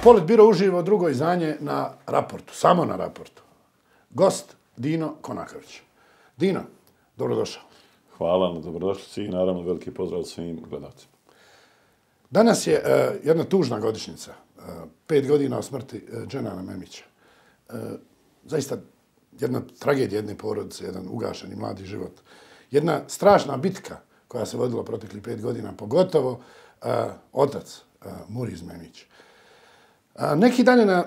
Politbiro uživo drugo izdanje na Raportu, samo na Raportu. Gost Dino Konaković. Dino, dobrodošao. Hvala na dobrodošlici i naravno veliki pozdrav svim gledalcima. Danas je jedna tužna godišnjica, 5 godina od smrti Dženana Memića. Zaista jedna tragedija jedne porodice, jedan ugašeni mladi život. Jedna strašna bitka koja se vodila proteklih 5 godina, pogotovo otac Muriz Memić. Neki dan je na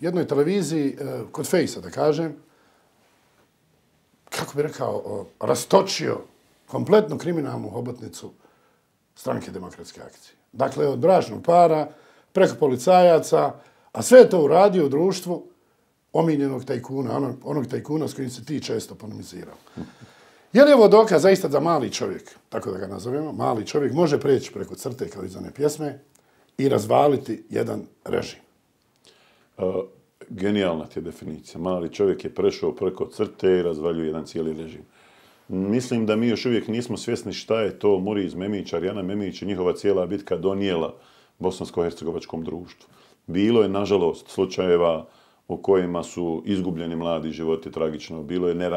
jednoj televiziji, kod Fejsa da kažem, kako bi rekao, rastočio kompletnu kriminalnu hobotnicu Stranke demokratske akcije. Dakle, od bračnog para, preko policajaca, a sve je to uradio u društvu omiljenog tajkuna, onog tajkuna s kojim se ti često polemizirao. Je li ovo dokaz zaista da mali čovjek, tako da ga nazovemo, mali čovjek može preći preko crte kao iz one pjesme i razvaliti jedan režim? Genijalna ti je definicija. Mali čovjek je prešao preko crte i razvaljuje jedan cijeli režim. Mislim da mi još uvijek nismo svjesni šta je to Muriz Memić, Arjana Memić i njihova cijela bitka donijela bosansko-hercegovačkom društvu. Bilo je, nažalost, slučajeva u kojima su izgubljeni mladi životi tragično, bilo je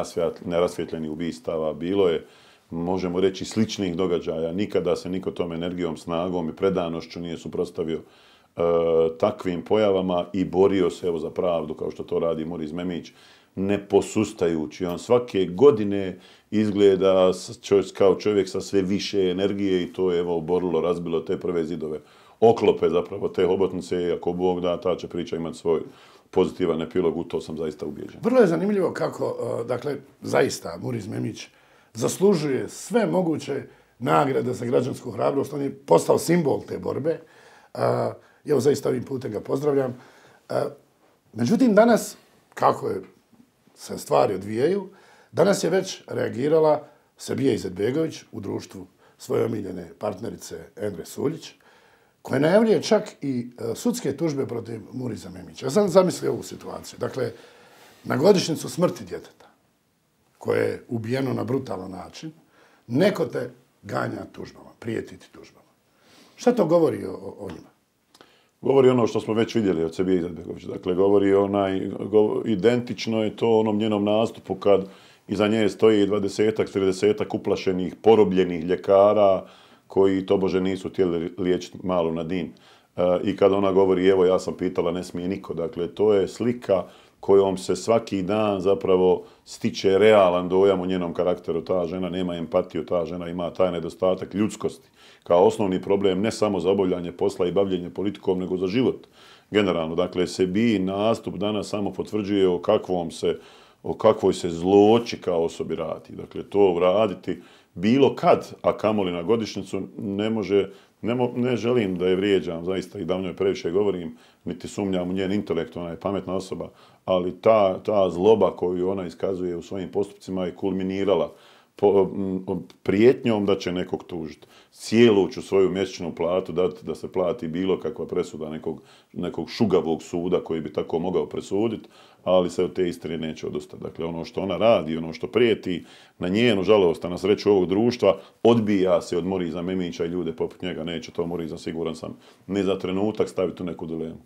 nerasvjetljenih ubistava, bilo je, možemo reći, sličnih događaja. Nikada se niko tom energijom, snagom i predanošću nije suprotstavio takvim pojavama i borio se evo za pravdu kao što to radi Muriz Memić, ne posustajući. On svake godine izgleda kao čovjek sa sve više energije i to je evo oborilo, razbilo te prve zidove. Oklope zapravo te hobotnice i ako Bog da, ta će priča imati svoj pozitivan epilog, u to sam zaista ubijeđen. Vrlo je zanimljivo kako, dakle, zaista Muriz Memić zaslužuje sve moguće nagrade za građansku hrabrost. On je postao simbol te borbe. Evo, zaista ovim putem ga pozdravljam. Međutim, danas, kako se stvari odvijaju, danas je već reagirala Sebija Izetbegović u društvu svoje omiljene partnerice Endre Suljić, koja najavljuje čak i sudske tužbe protiv Muriza Memića. Ja sam zamislio ovu situaciju. Dakle, na godišnjicu smrti djeteta, koje je ubijeno na brutalan način, neko te ganja tužbama, prijetiti tužbama. Šta to govori o njima? Govori ono što smo već vidjeli od Sebije Izetbegović. Dakle, govori identično je to onom njenom nastupu kad iza nje stoji 20-ak, 30-ak uplašenih, porobljenih ljekara koji tobože nisu htjeli liječiti malu Nadin. I kad ona govori, evo ja sam pitala, ne smije niko. Dakle, to je slika kojom se svaki dan zapravo stiče realan dojam u njenom karakteru. Ta žena nema empatiju, ta žena ima taj nedostatak ljudskosti kao osnovni problem ne samo za obavljanje posla i bavljenje politikom, nego za život generalno. Dakle, Sebiji nastup danas samo potvrđuje o kakvoj se zloći kao osobi radi. Dakle, to uraditi bilo kad, a kamoli na godišnjicu, ne želim da je vrijeđam, zaista i da o njoj previše govorim, niti sumnjam u njen intelekt, ona je pametna osoba, ali ta zloba koju ona iskazuje u svojim postupcima je kulminirala prijetnjom da će nekog tužiti. Cijelu ću svoju mjesečnu platu dati da se plati bilo kakva presuda nekog šugavog suda koji bi tako mogao presuditi, ali se od te istine neće odustati. Dakle, ono što ona radi, ono što prijeti, na njenu žalost, a na sreću ovog društva, odbija se od Muriza Memića i ljude poput njega. Neće to Muriza, siguran sam, ne za trenutak staviti u neku dilemu.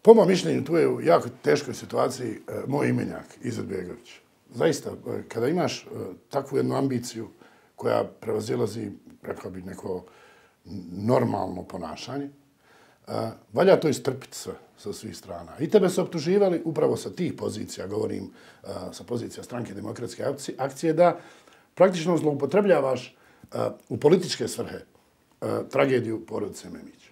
Po mom mišljenju, tu je u jako teškoj situaciji moj imenjak, Izetbegović. Zaista, kada imaš takvu jednu ambiciju koja prevazilazi, rekao bih, neko normalno ponašanje, valja to istrpiti sve sa svih strana. I tebe su optuživali upravo sa tih pozicija, govorim sa pozicija Stranke demokratske akcije, da praktično zloupotrebljavaš u političke svrhe tragediju porodice Memić.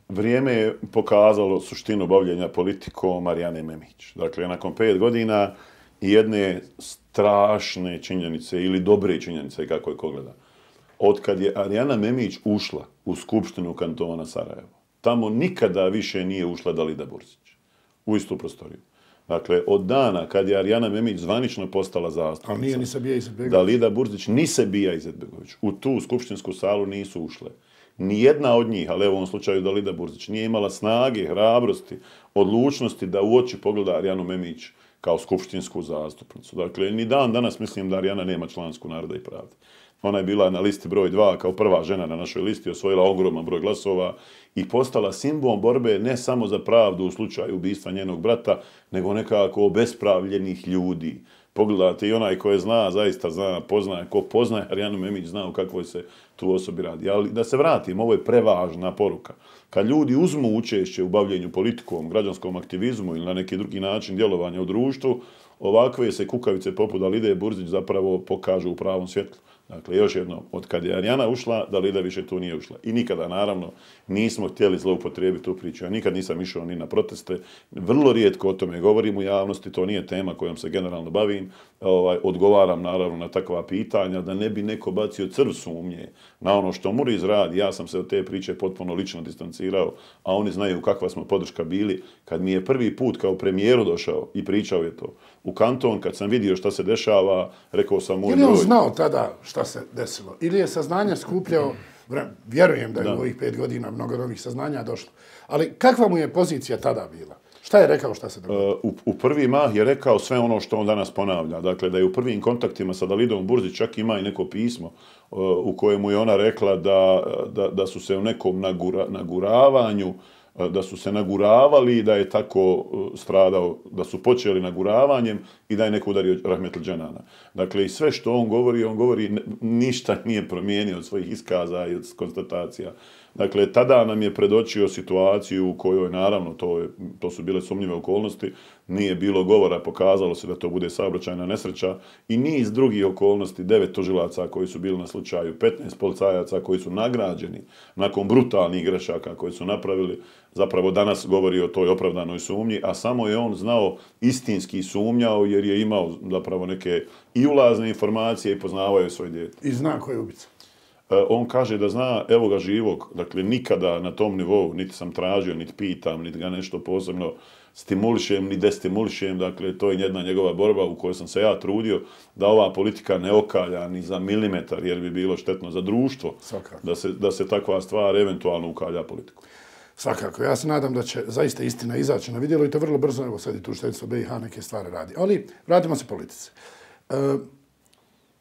Vrijeme je pokazalo suštinu bavljenja politikom Arjane Memić. Dakle, nakon 5 godina i jedne strašne činjenice ili dobre činjenice, kako je ko gleda. Otkad je Arjana Memić ušla u Skupštinu kantona Sarajevo, tamo nikada više nije ušla Dalida Burzić u istu prostoriju. Dakle, od dana kad je Arjana Memić zvanično postala zastupnica, ali nije ni Sebija Izetbegović. Dalida Burzić ni Sebija Izetbegović u tu skupštinsku salu nisu ušle. Nijedna od njih, ali evo u ovom slučaju Dalida Burzić, nije imala snage, hrabrosti, odlučnosti da u oči pogleda Arjanu Memić kao skupštinsku zastupnicu. Dakle, ni dan danas mislim da Arijana nema člansku Naroda i pravde. Ona je bila na listi broj 2 kao prva žena na našoj listi, osvojila ogroman broj glasova i postala simbol borbe ne samo za pravdu u slučaju ubistva njenog brata, nego nekako obespravljenih ljudi. Pogledajte, i onaj ko je zna, zaista zna, poznaje, ko poznaje Arijanu Memić zna o kakvoj se tu osobi radi. Ali da se vratim, ovo je prevažna poruka. Kad ljudi uzmu učešće u bavljenju politikom, građanskom aktivizmu ili na neki drugi način djelovanja u društvu, ovakve se kukavice poput Alide Burzić zapravo pokažu u pravom svjetlu. Dakle, još jedno, od kad je Arijana ušla, Dalida više tu nije ušla. I nikada, naravno, nismo htjeli zloupotrijebiti tu priču. Ja nikad nisam išao ni na proteste. Vrlo rijetko o tome govorim u javnosti, to nije tema kojom se generalno bavim. Odgovaram, naravno, na takva pitanja, da ne bi neko bacio crv sumnje na ono što Muriz radi. Ja sam se od te priče potpuno lično distancirao, a oni znaju kakva smo podrška bili. Kad mi je prvi put kao premijeru došao i pričao je to u kanton, kad sam vidio šta se dešava, rekao sam mu... Ili on znao tada šta se desilo? Ili je saznanja skupljao, vjerujem da je u ovih 5 godina mnogo novih saznanja došlo, ali kakva mu je pozicija tada bila? Šta je rekao, šta se dogodilo? U prvi mah je rekao sve ono što on danas ponavlja. Dakle, da je u prvim kontaktima sa Dalidom Burzić čak ima i neko pismo u kojemu je ona rekla da su se u nekom naguravanju, da su se naguravali i da je tako stradao, da su počeli naguravanjem i da je neko udario Rahmetli Dženana. Dakle, i sve što on govori, ništa nije promijenio od svojih iskaza i od konstatacija. Dakle, tada nam je predočio situaciju u kojoj, naravno, to su bile sumnjive okolnosti, nije bilo govora, pokazalo se da to bude saobraćajna nesreća i niz drugih okolnosti, 9 tužilaca koji su bili na slučaju, 15 policajaca koji su nagrađeni nakon brutalnih grešaka koje su napravili, zapravo danas govori o toj opravdanoj sumnji, a samo je on znao istinski sumnjao jer je imao zapravo neke i ulazne informacije i poznavao je svoj dijete. I zna ko je ubica. On kaže da zna, evo ga živog, dakle nikada na tom nivou niti sam tražio, niti pitam, niti ga nešto posebno stimulišem, ni destimulišem, dakle to je jedna njegova borba u kojoj sam se ja trudio da ova politika ne okalja ni za milimetar jer bi bilo štetno za društvo da se takva stvar eventualno ukalja politiku. Svakako, ja se nadam da će zaista istina izaći na vidjelo i to vrlo brzo, evo sad i tužiteljstvo BiH neke stvari radi. Ali vratimo se politici.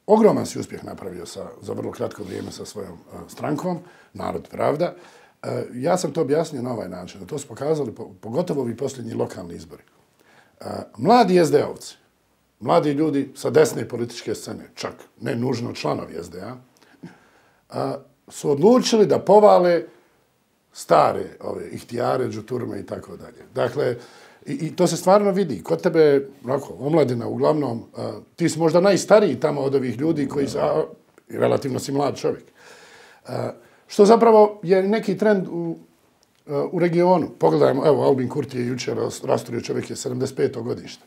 Ogroman si uspjeh napravio za vrlo kratko vrijeme sa svojom strankom, Narod pravda. Ja sam to objasnio na ovaj način, da to su pokazali pogotovo ovi posljednji lokalni izbori. Mladi SD-ovci, mladi ljudi sa desne političke scene, čak ne nužno članovi SDA, su odlučili da povale stare ihtijare, džuturme i tako dalje. Dakle, i to se stvarno vidi. Kod tebe, omladina, uglavnom, ti si možda najstariji tamo od ovih ljudi koji su, relativno si mlad čovjek. Što zapravo je neki trend u regionu. Pogledajmo, evo, Albin Kurti je jučer rasturio, čovjek je 75. godište.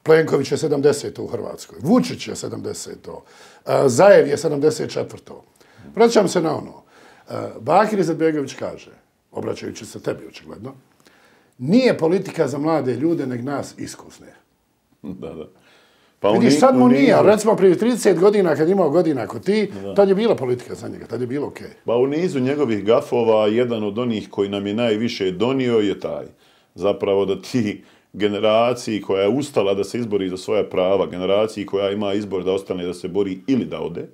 Plenković je 70. u Hrvatskoj. Vučić je 70. Zajev je 74. Vraćam se na ono. Bakir Izetbegović kaže, obraćajući se tebi očigledno, nije politika za mlade ljude, nek nas iskusne. Da. Pa vidiš, sad mu nije, recimo prije 30 godina kad imao godina kod ti, tad je bila politika za njega, tad je bilo okej. Pa u nizu njegovih gafova, jedan od onih koji nam je najviše donio je taj. Zapravo da ti generaciji koja je ustala da se izbori za svoja prava, generaciji koja ima izbor da ostane da se bori ili da ode,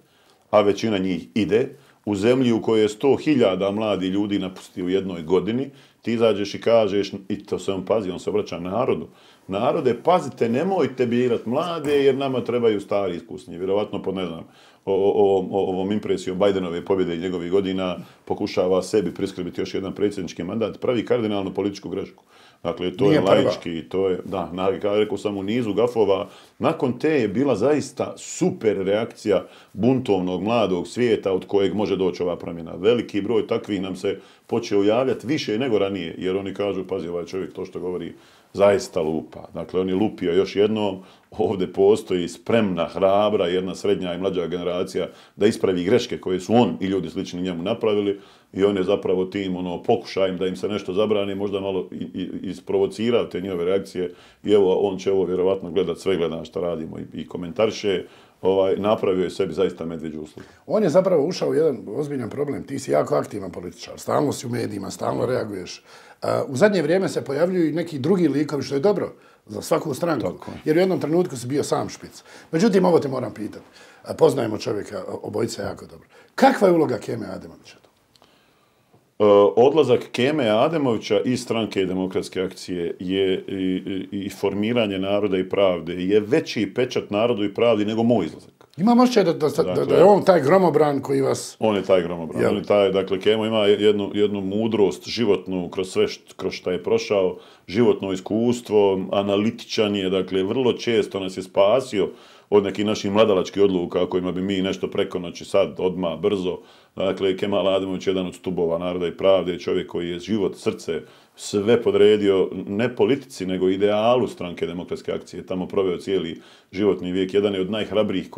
a većina njih ide, u zemlji u kojoj je 100.000 mladi ljudi napusti u jednoj godini, ti izađeš i kažeš, i to se on pazi, on se obraća narodu. Narode, pazite, nemojte birat mlade jer nama trebaju stari iskusni. Vjerovatno po, ne znam, ovom impresijom Bajdenove pobjede i njegovih godina pokušava sebi priskrbiti još jedan predsjednički mandat, pravi kardinalnu političku grešku. Dakle, to je laički, to je, da, rekao sam u nizu gafova, nakon te je bila zaista super reakcija buntovnog mladog svijeta od kojeg može doći ova promjena. Veliki broj takvih nam se počeo javljati više nego ranije, jer oni kažu, pazi, ovaj čovjek to što govori zaista lupa. Dakle, on je lupio još jednom, ovdje postoji spremna, hrabra, jedna srednja i mlađa generacija da ispravi greške koje su on i ljudi slični njemu napravili i on je zapravo tim pokušajem da im se nešto zabrani, možda malo isprovocirao te njove reakcije i evo, on će ovo vjerovatno gledat, sve gleda što radimo i komentariše, napravio je sebi zaista medvjeđu uslugu. On je zapravo ušao u jedan ozbiljan problem. Ti si jako aktivan političar, stalno si u medijima, stalno reaguješ. U zadnje vrijeme se pojavljuju i neki drugi likovi, što je dobro za svaku stranku. Jer u jednom trenutku si bio sam špic. Međutim, ovo te moram pitati. Poznajemo čovjeka, obojica jako dobro. Kakva je uloga Keme Ademovića? Odlazak Keme Ademovića iz stranke Demokratske akcije je i formiranje Naroda i pravde je veći pečat Narodu i pravdi nego moj izlazak. Imam osjećaj da je on taj gromobran koji vas... On je taj gromobran. On je taj, dakle, Kemo ima jednu mudrost životnu kroz sve kroz što je prošao, životno iskustvo, analitičan je, dakle, vrlo često nas je spasio od nekih naših mladalačkih odluka kojima bi mi nešto preko noći sad, odmah, brzo. Dakle, Kemal Ademović je jedan od stubova Naroda i pravde, čovjek koji je život, srce, sve podredio ne politici, nego idealu stranke Demokratske akcije. Tamo proveo cijeli životni vijek. Jedan je od najhrabrije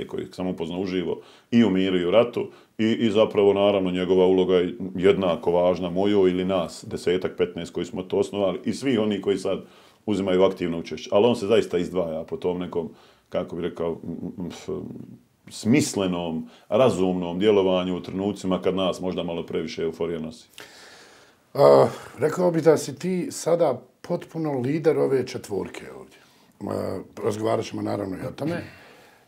koje sam upoznao uživo i u miru i u ratu. I zapravo, naravno, njegova uloga je jednako važna mojoj ili nas, 10-15 koji smo to osnovali i svi oni koji sad uzimaju aktivno učešće. Ali on se zaista izdvaja po tom nekom, kako bih rekao, smislenom, razumnom djelovanju u trenucima kad nas možda malo previše euforija nosi. Rekao bih da si ti sada potpuno lider ove četvorke ovdje. Razgovarat ćemo naravno i o tome.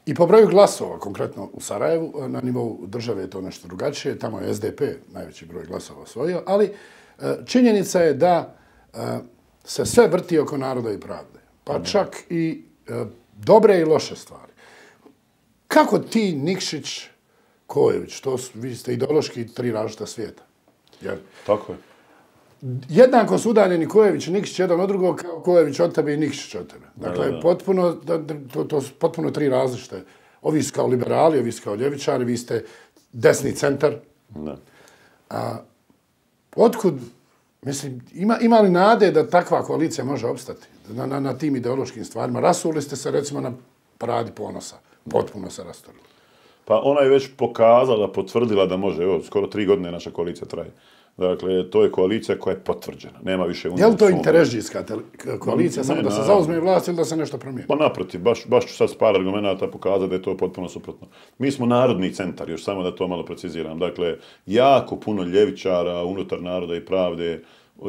I po broju glasova, konkretno u Sarajevu, na nivou države je to nešto drugačije. Tamo je SDP najveći broj glasova osvojio, ali činjenica je da se sve vrti oko Naroda i pravde. Pa čak i dobre i loše stvari. Kako ti, Nikšić, Kojević, vi ste ideološki tri različita svijeta. Jer tako je. Jednako su udaljeni Kojević i Nikšić jedan od drugog, kao Kojević od tebe i Nikšić od tebe. Dakle, to su potpuno tri različite. Ovi su kao liberali, ovi su kao ljevičari, vi ste desni centar. Otkud, mislim, ima li nade da takva koalicija može opstati na tim ideološkim stvarima? Rasuli ste se, recimo, na Paradi ponosa. Potpuno se rastorili. Pa ona je već pokazala, potvrdila da može. Evo, skoro 3 godine naša koalicija traje. Dakle, to je koalicija koja je potvrđena. Nema više... Je li to interrežijska koalicija, samo da se zauzme vlast ili da se nešto promijeni? Pa naprotiv, baš ću sad s par argumenta pokazati da je to potpuno suprotno. Mi smo narodni centar, još samo da to malo preciziram. Dakle, jako puno ljevičara unutar Naroda i pravde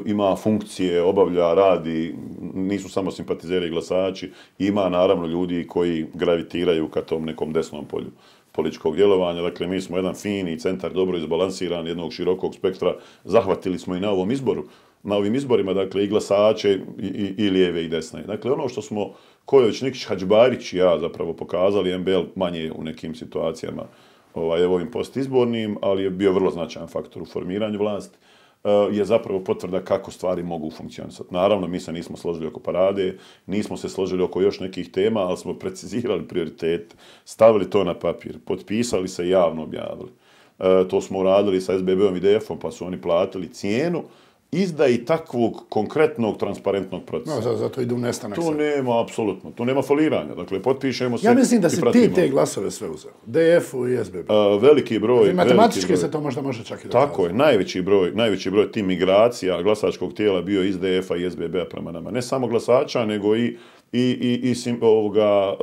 ima funkcije, obavlja, radi, nisu samo simpatizeri i glasači, ima naravno ljudi koji gravitiraju ka tom nekom desnom polju političkog djelovanja. Dakle, mi smo jedan fini centar, dobro izbalansiran, jednog širokog spektra. Zahvatili smo i na ovom izboru, na ovim izborima, dakle, i glasače i lijeve i desne. Dakle, ono što smo Kojević, Nikšić, Hadžbarić i ja zapravo pokazali, MBL manje u nekim situacijama ovim postizbornim, ali je bio vrlo značajan faktor u formiranju vlasti, je zapravo potvrda kako stvari mogu funkcionisati. Naravno, mi se nismo složili oko Parade, nismo se složili oko još nekih tema, ali smo precizirali prioritete, stavili to na papir, potpisali se i javno objavili. To smo uradili sa SBB-om i DF-om, pa su oni platili cijenu izdaji takvog konkretnog, transparentnog procesa. No, zato ide u nestanak. Tu nema, apsolutno, tu nema foliranja. Dakle, potpišemo se i pratimo. Ja mislim da si ti te glasove sve uzeo. DF-u i SBB. Veliki broj. Matematički se to možda može čak i dokazati. Tako je, najveći broj tih migracija glasačkog tijela bio iz DF-a i SBB-a prema nama. Ne samo glasača, nego i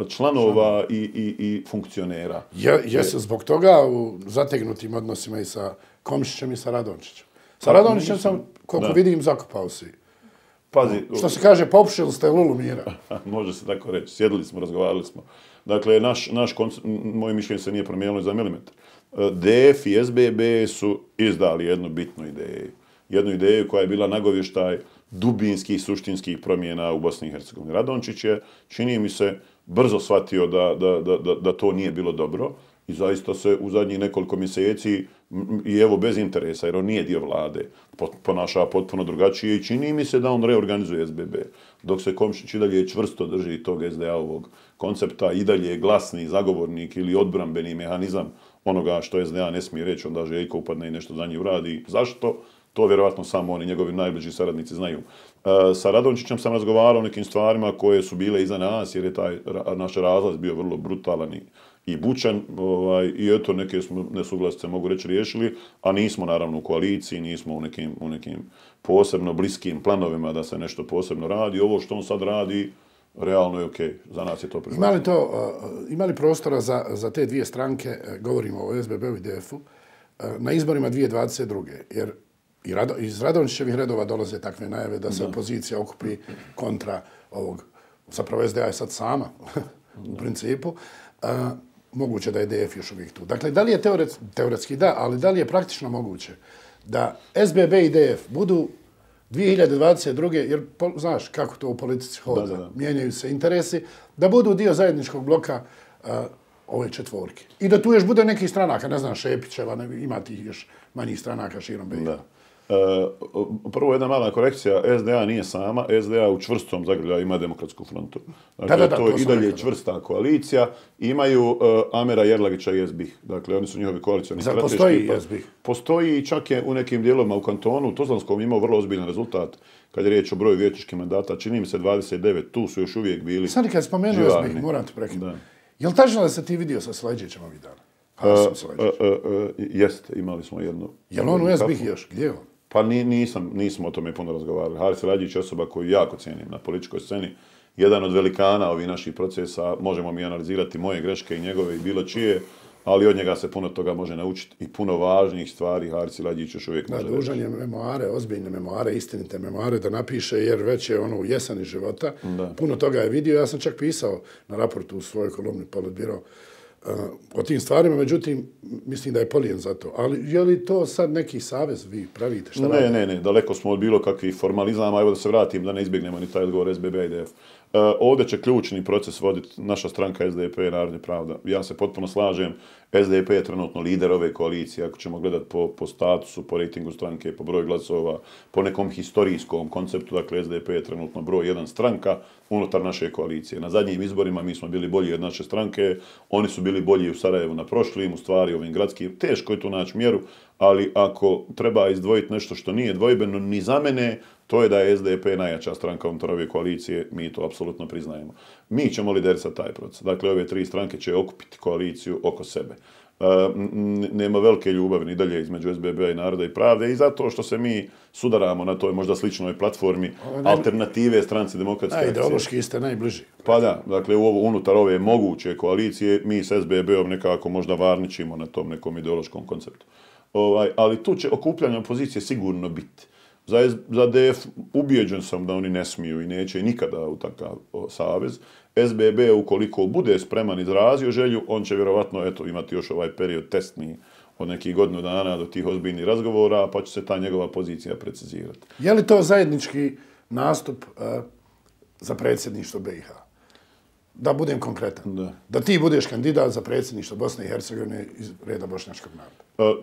članova i funkcionera. Jesu zbog toga u zategnutim odnosima i sa Komšićem i sa Radončićem. Sa Radončićem sam, koliko vidim, zakopao si. Pazi. Što se kaže, popušili ste lulu mira. Može se tako reći. Sjedili smo, razgovarali smo. Dakle, moje mišljenje se nije promijenilo za milimetar. DF i SBB su izdali jednu bitnu ideju. Jednu ideju koja je bila nagovještaj dubinskih, suštinskih promjena u Bosni i Hercegovini. Radončić je, čini mi se, brzo shvatio da to nije bilo dobro i zaista se u zadnjih nekoliko mjeseci, i evo bez interesa, jer on nije dio vlade, ponaša potpuno drugačije i čini mi se da on reorganizuje SBB. Dok se Komšić i dalje čvrsto drži tog SDA-ovog koncepta, i dalje je glasni zagovornik ili odbrambeni mehanizam onoga što SDA ne smije reći, onda Željko upadne i nešto za njih uradi. Zašto? To vjerovatno samo oni, njegovi najbliži saradnici, znaju. Sa Radončićem sam razgovarao o nekim stvarima koje su bile iza nas, jer je taj naš razlaz bio vrlo brutalan i bučan, i eto neke smo nesuglasice, mogu reći, riješili, a nismo naravno u koaliciji, nismo u nekim posebno bliskim planovima da se nešto posebno radi. Ovo što on sad radi realno je okej. Za nas je to prihvatljivo. Ima li prostora za te dvije stranke, govorimo o SBB-u i DF-u, na izborima 2022. Jer iz Radonjićevih redova dolaze takve najave da se opozicija okupi kontra ovog, zapravo SDA je sad sama u principu, moguće da je DF još uvijek tu. Dakle, da li je teoretski da, ali da li je praktično moguće da SBB i DF budu 2022. jer znaš kako to u politici hoda, mijenjaju se interesi, da budu dio zajedničkog bloka ove četvorke. I da tu još bude nekih stranaka, ne znam, Šepićeva, ima tih još manjih stranaka širom BiH. Prvo jedna mala korekcija, SDA nije sama, SDA u čvrstom zagrljaju ima Demokratsku frontu. Dakle, to je i dalje čvrsta koalicija. Imaju Amera Jerlagića i SBIH. Dakle, oni su njihovi koalicioni strateški. Postoji SBIH? Postoji i čak je u nekim dijelovima u kantonu, u Tuzlanskom imao vrlo ozbiljan rezultat kad je riječ o broju vijećničkih mandata. Čini mi se 29, tu su još uvijek bili sad kad spomenuo SBIH, moram te prekinuti. Je li tačno da se ti vidio sa Sleđićem ovih dana? Jeste, imali smo jednu. Je li on u SBIH još? Gdje je on? Pa nismo o tome puno razgovarali. Haris Radjić je osoba koju jako cijenim na političkoj sceni. Jedan od velikana ovih naših procesa, možemo mi analizirati moje greške i njegove i bilo čije, ali od njega se puno toga može naučiti i puno važnijih stvari Haris Radjić još uvijek može reći. Dužan je memoare, ozbiljne memoare, istinite memoare da napiše, jer već je ono u jeseni života. Puno toga je vidio. Ja sam čak pisao na raportu u svojoj kolumni Politbiro o tim stvarima, međutim, mislim da je polijen za to. Ali je li to sad neki savez vi pravite? Ne, daleko smo od bilo kakvih formalizama. Evo da se vratim, da ne izbjegnemo ni taj odgovor SBB i DF. Ovdje će ključni proces voditi naša stranka SDP, Narod i Pravda. Ja se potpuno slažem, SDP je trenutno lider ove koalicije, ako ćemo gledati po statusu, po rejtingu stranke, po broju glasova, po nekom historijskom konceptu, dakle SDP je trenutno broj 1 stranka unutar naše koalicije. Na zadnjim izborima mi smo bili bolji od naše stranke, oni su bili bolji u Sarajevu na prošlim, u stvari ovim gradskim. Teško je tu naći mjeru, ali ako treba izdvojiti nešto što nije dvojbeno ni za mene, to je da je SDP najjača stranka unutar ove koalicije, mi to apsolutno priznajemo. Mi ćemo liderisati taj proces. Dakle, ove tri stranke će okupiti koaliciju oko sebe. Nema velike ljubavi ni dalje između SBB-a i Naroda i Pravde i zato što se mi sudaramo na toj možda sličnoj platformi alternative stranci Demokratske akcije. Ideološki ste najbliži. Pa da, dakle unutar ove moguće koalicije mi s SBB-om nekako možda varničimo na tom nekom ideološkom konceptu. Ali tu će okupljanje opozicije sigurno biti. Za DF ubijeđen sam da oni ne smiju i neće nikada u takav savez. SBB, ukoliko bude spreman izrazio želju, on će vjerovatno imati još ovaj period testni od nekih godinu dana do tih ozbiljnih razgovora, pa će se ta njegova pozicija precizirati. Je li to zajednički nastup za predsjedništvo BiH? Da budem konkretan. Da ti budeš kandidat za predsjedništvo Bosne i Hercegovine iz reda bošnjačkog naroda.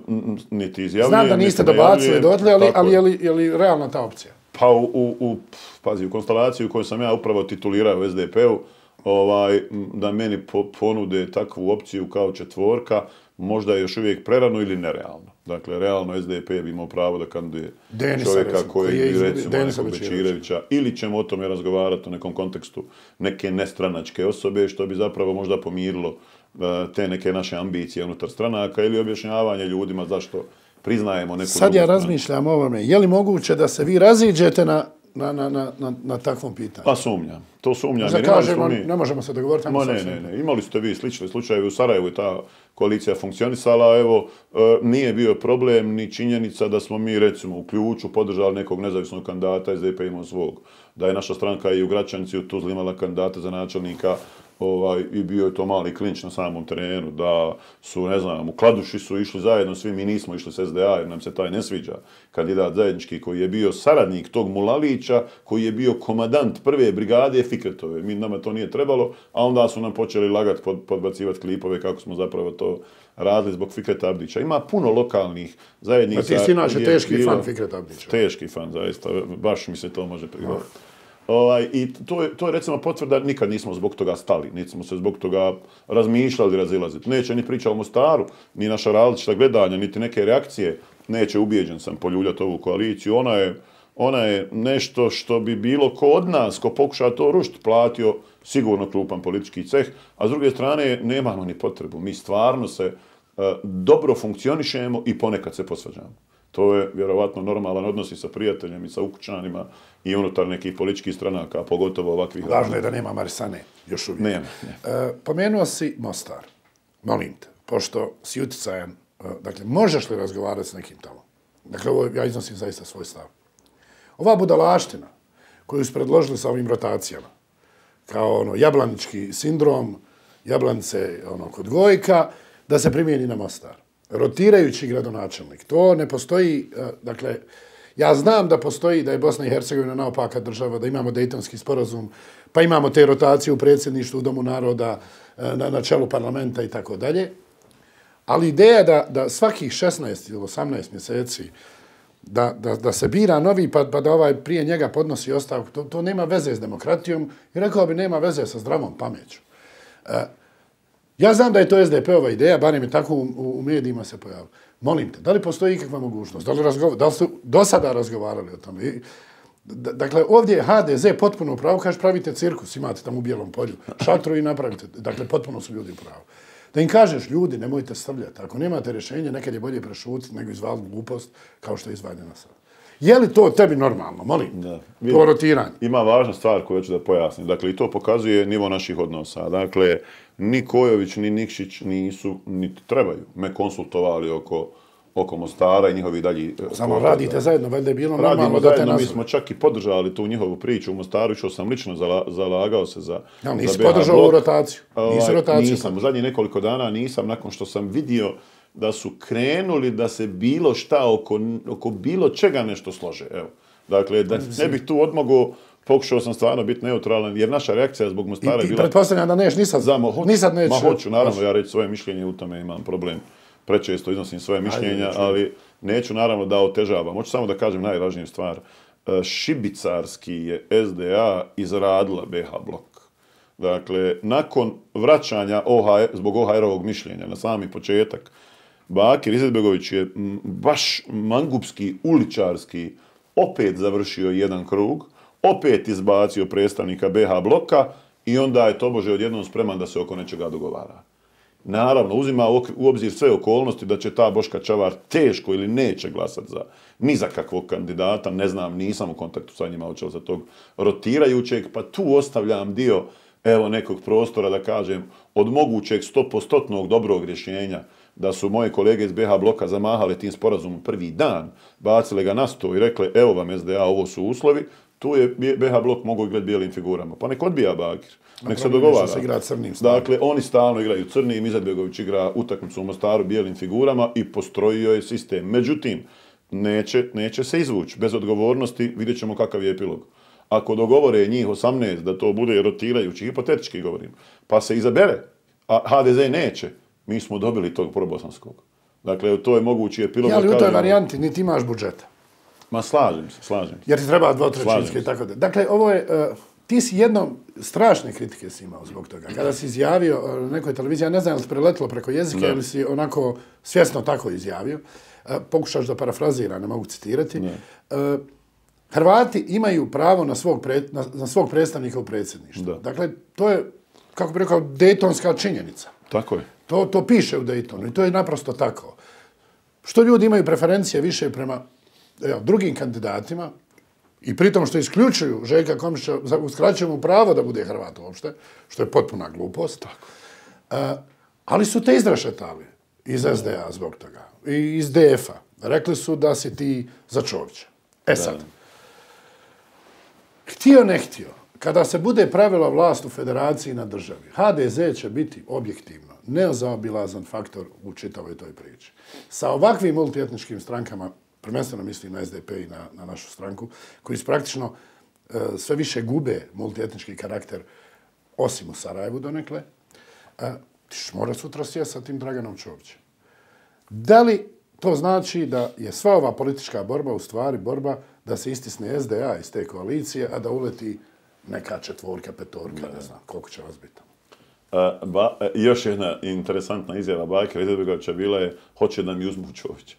Niti izjavljujem. Znam da niste dobacili dotle, ali je li realna ta opcija? Pa pazi, u konstelaciju koju sam ja upravo titulirao u SDP-u, da meni ponude takvu opciju kao četvorka, možda je još uvijek prerano ili nerealno. Dakle, realno SDP bi imao pravo da kandiduje čovjeka koji je, recimo, nekog Bečirevića, ili ćemo o tome razgovarati u nekom kontekstu neke nestranačke osobe, što bi zapravo možda pomirilo te neke naše ambicije unutar stranaka ili objašnjavanje ljudima zašto priznajemo neku... Sad ja razmišljam o ovome. Je li moguće da se vi raziđete na takvom pitanju? Pa sumnjam. To sumnjam. Možda kažemo, ne možemo se dogovoriti. Ne. Imali ste vi slične slučajeve u Sarajevu i ta koalicija funkcionisala. Evo, nije bio problem ni činjenica da smo mi, recimo, u Ključu podržali nekog nezavisnog kandidata, SDP imao svog. Da je naša stranka i u Gračanici u Tuzli imala kandidata za načelnika i bio je to mali klinč na samom terenu, da su, ne znam, u Kladuši su išli zajedno, svi mi nismo išli s SDA jer nam se taj ne sviđa. Kandidat zajednički koji je bio saradnik tog Mulalića, koji je bio komadant prve brigade Fikretove. Nama to nije trebalo, a onda su nam počeli lagati, podbacivati klipove kako smo zapravo to radili zbog Fikreta Abdića. Ima puno lokalnih zajednica. Pa ti si inače teški fan Fikreta Abdića. Teški fan, zaista. Baš mi se to može prigovoriti. I to je recimo potvrda, nikad nismo zbog toga stali, niti smo se zbog toga razmišljali razilaziti. Neće ni priča o Mostaru, ni naša različita gledanja, niti neke reakcije neće, ubijeđen sam, poljuljati ovu koaliciju. Ona je nešto što bi bilo ko od nas, ko pokuša to rušiti, platio sigurno klupan politički ceh, a s druge strane nemamo ni potrebu. Mi stvarno se dobro funkcionišemo i ponekad se posvađamo. To je vjerovatno normalan odnos i sa prijateljem i sa ukućanima i unutar nekih političkih stranaka, pogotovo ovakvih. Važno je da nema Marisane, još uvijek. Nema. Pomenuo si Mostar. Molim te, pošto si uticajan, dakle, možeš li razgovarati s nekim tamo? Dakle, ovo ja iznosim zaista svoj stav. Ova budalaština koju su predložili sa ovim rotacijama, kao jablanički sindrom, jablanice kod Gojka, da se primijeni na Mostar. Rotirajući gradonačelnik. To ne postoji, dakle, ja znam da postoji, da je Bosna i Hercegovina naopaka država, da imamo Dejtonski sporazum, pa imamo te rotacije u predsjedništvu, u Domu naroda, na čelu parlamenta i tako dalje. Ali ideja da svakih 16 ili 18 mjeseci da se bira novi pa da ovaj prije njega podnosi ostavku, to nema veze s demokratijom i rekao bi nema veze sa zdravom pameću. Ja znam da je to SDP-ova ideja, barem je tako u medijima se pojavilo. Molim te, da li postoji ikakva mogućnost? Da li su do sada razgovarali o tome? Dakle, ovdje je HDZ potpuno u pravu, kaže pravite cirkus, imate tamo u Bijelom polju, šatru i napravite. Dakle, potpuno su ljudi u pravu. Da im kažeš, ljudi, nemojte strljati. Ako nemate rješenje, nekad je bolje prešutiti nego izvaliti glupost kao što je izvaljena sad. Je li to tebi normalno? Molim, to rotiranje. Ima važna stvar koju ću da pojasnim. Dakle, i to pokazuje nivo naših odnosa. Dakle, ni Kojović, ni Nikšić nisu, niti trebaju, me konsultovali oko Mostara i njihovi dalji... Samo radite zajedno, valjda je bilo normalno da te nazove. Mi smo čak i podržali tu njihovu priču u Mostaru, što sam lično zalagao se za nisi podržao ovu rotaciju? Nisam, u zadnjih nekoliko dana nisam, nakon što sam vidio da su krenuli da se bilo šta oko bilo čega nešto slože. Evo. Dakle, da ne bih tu odmogao, pokušao sam stvarno biti neutralan, jer naša reakcija zbog Mostara je bila... I pretpostavljam da neš, nisad neću. Ma hoću, naravno, ja reći svoje mišljenje, u tome imam problem. Prečesto iznosim svoje mišljenja, ali neću naravno da otežavam. Hoću samo da kažem najvažniju stvar. Šibicarski je SDA izradila BH blok. Dakle, nakon vraćanja zbog OHR-ovog mišljenja na sami početak, Bakir Izetbegović je baš mangupski, uličarski opet završio jedan krug, opet izbacio predstavnika BH bloka i onda je tobože odjednom spreman da se oko nečega dogovara. Naravno, uzima u obzir sve okolnosti da će ta Boška Čavar teško ili neće glasati ni za kakvog kandidata, ne znam, nisam u kontaktu sa njima očeo za tog rotirajućeg, pa tu ostavljam dio nekog prostora da kažem od mogućeg 100% dobrog rješenja da su moje kolege iz BH bloka zamahali tim sporazumom prvi dan, bacile ga na sto i rekle evo vam SDA, ovo su uslovi, tu je BH blok mogao igrati bijelim figurama. Pa nek odbija Bakir, nek se dogovara. Dakle, oni stalno igraju crnim, Izetbegović igra utakmicu u Mostaru bijelim figurama i postrojio je sistem. Međutim, neće se izvući. Bez odgovornosti vidjet ćemo kakav je epilog. Ako dogovore njih 18 da to bude rotirajući, hipotetički govorim, pa se izabere, a HDZ neće, mi smo dobili tog probosanskog. Dakle, to je mogući epilog. Ali u toj varijanti niti imaš budžeta. Ma slažem se. Jer ti treba 2/3 i tako da. Dakle, ovo je, ti si jednom strašne kritike si imao zbog toga. Kada si izjavio na nekoj televiziji, ja ne znam li si preletilo preko jezika ili si onako svjesno tako izjavio, pokušaš da parafraziram, ne mogu citirati, Hrvati imaju pravo na svog predstavnika u predsjedništvu. Dakle, to je, kako bi rekao, dejtonska činjenica. Tako je. To piše u Dejtonu i to je naprosto tako. Što ljudi imaju preferencije više prema drugim kandidatima i pritom što isključuju Željka Komšića, uskraćuju mu pravo da bude Hrvat uopšte, što je potpuna glupost. Ali su te izrašetali iz SDA zbog toga i iz DF-a. Rekli su da si ti za Čovića. Sad, htio ne htio, kada se bude pravila vlast u federaciji na državi, HDZ će biti objektivno nezaobilazan faktor u čitavoj toj priči. Sa ovakvim multietničkim strankama, prvenstveno mislim na SDP i na našu stranku, koji su praktično sve više gube multietnički karakter, osim u Sarajevu donekle, ti ćeš mora sutra sjeti sa tim Draganom Čovićem. Da li to znači da je sva ova politička borba u stvari borba da se istisne SDA iz te koalicije, a da uleti neka četvorka, petorka, ne znam, koliko će vas biti? Još jedna interesantna izjava Bakira Izetbegovića bila je hoće da mi uzmu Čovića.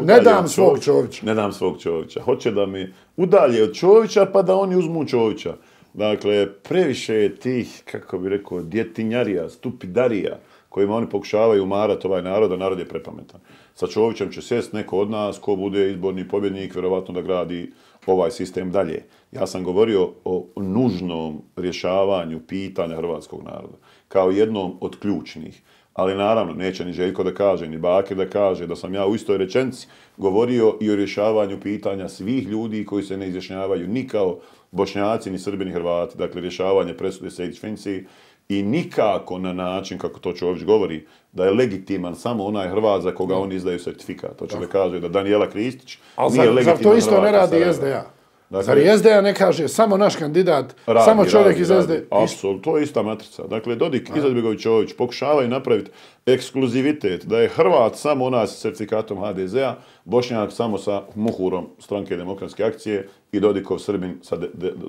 Ne dam svog Čovića. Ne dam svog Čovića. Hoće da mi udalje od Čovića pa da oni uzmu Čovića. Dakle, previše je tih, kako bi rekao, djetinjarija, stupidarija kojima oni pokušavaju umarati ovaj narod, a narod je prepametan. Sa Čovićem će sjest neko od nas ko bude izborni pobjednik, vjerovatno da gradi ovaj sistem dalje. Ja sam govorio o nužnom rješavanju pitanja hrvatskog naroda kao jednom od ključnih. Ali naravno, neće ni Željko da kaže, ni Bakir da kaže da sam ja u istoj rečenici govorio i o rješavanju pitanja svih ljudi koji se ne izjašnjavaju ni kao Bošnjaci, ni Srbi, ni Hrvati. Dakle, rješavanje presude Sejdić-Finci i nikako na način, kako to Čović govori, da je legitiman samo onaj Hrvat za koga oni izdaju sertifikat. To će da kaže da Danijela Kristić nije legitiman Hrvat. Zar to isto ne radi SDA? Dakle, zar i SDA ne kaže samo naš kandidat, samo čovjek iz SDA? Apsolutno, to je ista matrica. Dakle, Dodik, Izetbegović, Čović pokušavaju napraviti ekskluzivitet, da je Hrvat samo ona s certifikatom HDZ-a, Bošnjak samo sa Muhurom Stranke demokratske akcije i Dodikov Srbin sa